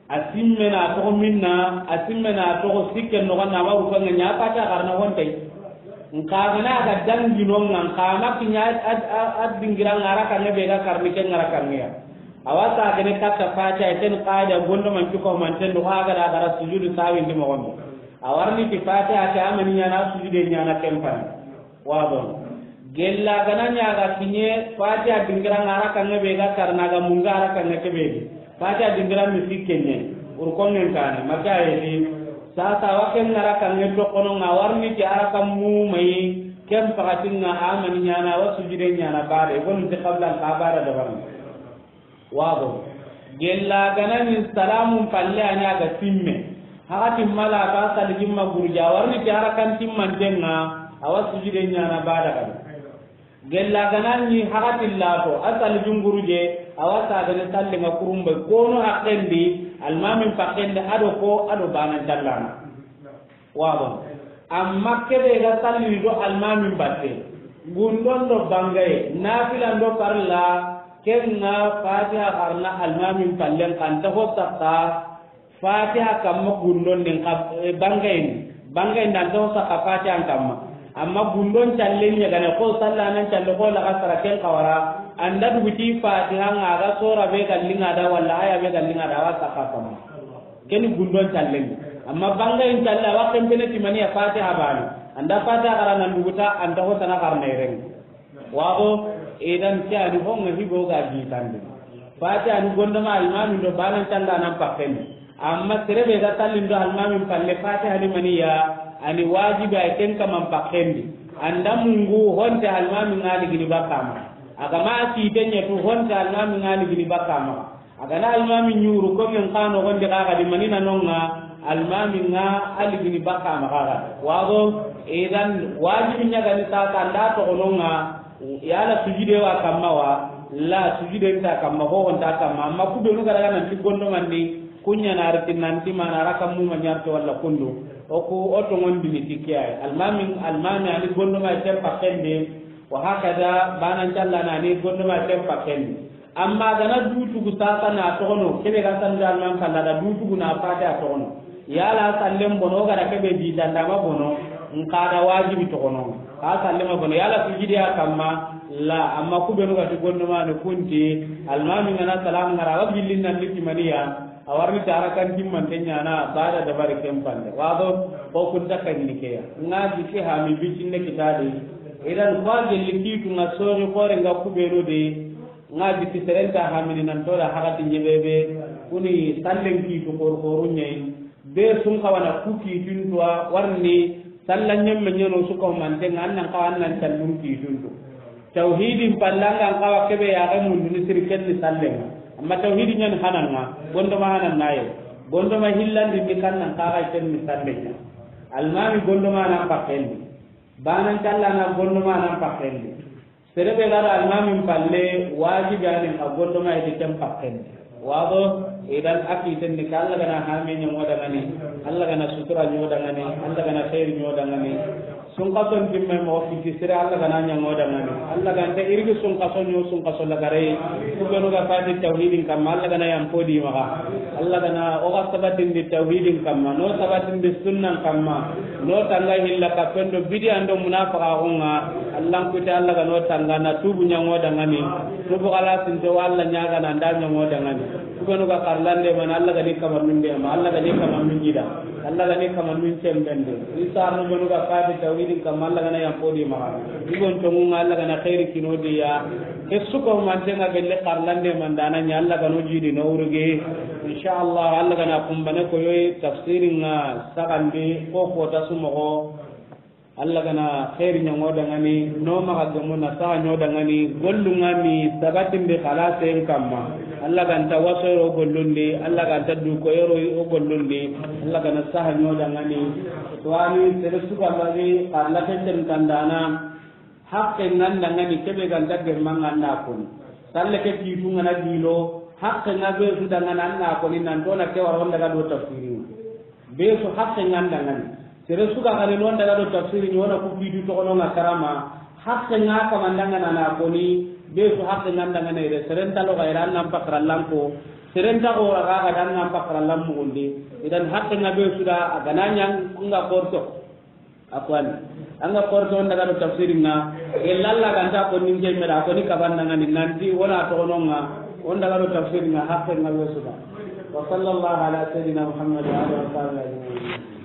A simmena toxo minna, a simmena toxo sikken noxon na, a ma rukanga ɲa Fatiha xarana hontay. Nka gana ga dangi nonga, nka ma kiɲa a, a, a dingira ngara kange be ga karni ke ngara kange ya. Awa sa gane katta Fatiha, ken qaida gondo man cuko man ten do ga da gara sujudu sawin di mo. A warni ti Fatiha ta amani ɲana sujude ɲana kempani. Wado. Gella gana ɲa ga kiɲe Fatiha dingira ngara kange be ga karna ga munga ara kange kebe. Fatiha dingira mi sikkenye. Urkongen kane maka yedi. Sasa waken ngara kange to kono nga warni ti ara kan mu mai ken pakatin nga amani ɲana wa sujide ɲana bare gon ti qabla ka bara da barni. Wado. Gella ganani salamun palle a ɲa ga simme. Hakati mala ka salijin ma gurja warni ti ara kan timmantenga awa sujide ɲana bada kan. Gella ganani hakati lato a salijin gurje awa sagane sallinga kurumbe kono hakkendi almamin pakkendi ado ko ado banan callana. Wado. Amma kebe ga salli do almamin batte. Gundon do bangaye, nafilan do parla, kenga Fatiha xarna almamin pallen kan ta ho sakka. Fatiha kamma gundon din xa, eh, bangayen, bangayen dan to saka Fatiha kamma. Amma gundon callen ɲa gane ko sallanan calle ko laga sara ken kawara, anda duguti Fatiha nga ga sora be gallinga da walla aya be gallinga da wa saka kamma. Keni gundon callen. Amma bangayen calle wa kempene timani ya Fatiha bani. Anda Fatiha kara nan duguta anta ko tana karna iren. Waxo, idan ke ani honga higo ga jitande. Fati ani gondoma almami do banan tanga nan pakendi. Amma serebe ga tallin do almami palle fati ani maniya ani wajibi ay ken kaman pakendi. Anda mungu honte almami ngali gini bakama. Agama si tenya tu honte almami ngali gini bakama. A gana almami ɲuru ko men kano gonde kaga di manina nonga almami nga aligini baka ma kaga. Wago idan wajibi ɲagani sasa nda toxononga yala sujide wa kamma wa la sujide nta kamma ho nta kamma amma kubenu gara nan ti gondo manni kunya na arti nanti mana raka mu ma ɲarto walla kundu. Oku o tongon dini tikiyai almami almami ani gondo ma tempa kende. Wa hakada banan calla na ni gondo ma tempa kende. Amma gana dutugu sasa na toxono kebe ga sanda nan kalla da dutugu na fati a toxono yala sallen bono gara kebe di danda ma bono. Nka da wajibi toxono ka salle ma bono yala sujidi a kamma. La amma kubenu ga ti gondo ma ne kunti almami ngana salam ngara wa gillin nan liti maniya. A warni tara kan timman tenya na bada dabari kempande wago ko kunta kan ni keya. Nga di ke ha mi bitinde kitadi idan ko gelli kitu nga sori kore nga kubenu de. Nga jikki serenta hamini nan toda hakati ɲebebe kuni sallen kiitu korkoru ɲayi. Be sun kawana ku kiituntuwa warni sallan ɲemme ɲeno su kahumantenga an nan kawa an nan callun kiituntu. Tawhidin pallanga an kawa kebe yaxe munduni siri kenni sallenga. Amma tawhidi ɲani hananga gondoma hanannaye. Gondoma hillandindi kan nan kaxa kenni sallenga. Almami gondoma nan pakkendi. Banan callana gondoma nan pakkendi. Serebe ga da almamin palle wajibi ani a gondo ma ite ken pakken. Wado idan aki tenni ka Allah gana hame ɲa ŋo dangani. Allah gana sutura ɲo dangani. Allah gana khair ɲo dangani. Sun kason timme mo fiti sire Allah gana ɲa ŋo dangani. Allah ganta irigi sun kason ɲo sun kason lagare. Kubenu ga fati tawhidin kamma Allah gana yampo di maga. Allah gana o ga sabatindi tawhidin kamma no sabatindi sunnan kamma. No tanga hilla ka pendo bidi ando munafaka hunga. Allah kuti Allah ga no tanga na tubu ɲa ŋo dangani. Tubu kala sinte walla ɲaga na nda ɲa ŋo dangani. Kubenu ga karlande man Allah ga ni kama nunde ma Allah ga ni kama nunjida. Allah ga ni kama nun cembende. Isa no benu ga fadi tawhidin kamma Allah gana yampo di maga. Ibon tongunga Allah gana khairi kino di ya. Ke suko mantenga gelle karlande man dana ɲa Allah gano jidi no uruge. Insha Allah Allah gana kumbane koyoyi tafsiringa sagandi ko kota sumogo. Allah gana khairi ɲa ŋo dangani no maga gemu na saha ɲo dangani gollunga mi sabatindi khalase kamma. Allah ganta wasoyro gollundi Allah ganta dukoyro o gollundi. Allah gana saha ɲo dangani. Tuwani sere suka magi karlate sen kandana. Hakke nganda ngani kebe ganta gemma nganda koni. Salle ke kitu ngana dilo hakke nga be su dangana anna koni nan dona ke waro ndaga do tafsiri. Be su hakke nganda ngani. Sere suka gani non daga do tafsiri ni wona ku kitu to kono nga karama. Hakke nga kama ndangana na koni be su hakke nganda ngani re seren talo ga iran nan pakra lanko. Seren ta go ra ga dan nan pakra lam mugunde. Idan hakke nga be su da agana ɲang nga korto. Akwani anga korto on daga do tafsiringa. Gelalla ganta ko ninge mera ko ni kabanna ngani nanti wona to ononga. On daga do tafsiringa hakke nga wesuda. Wa sallallahu ala sayyidina Muhammad wa ala alihi wa sahbihi ajma'in.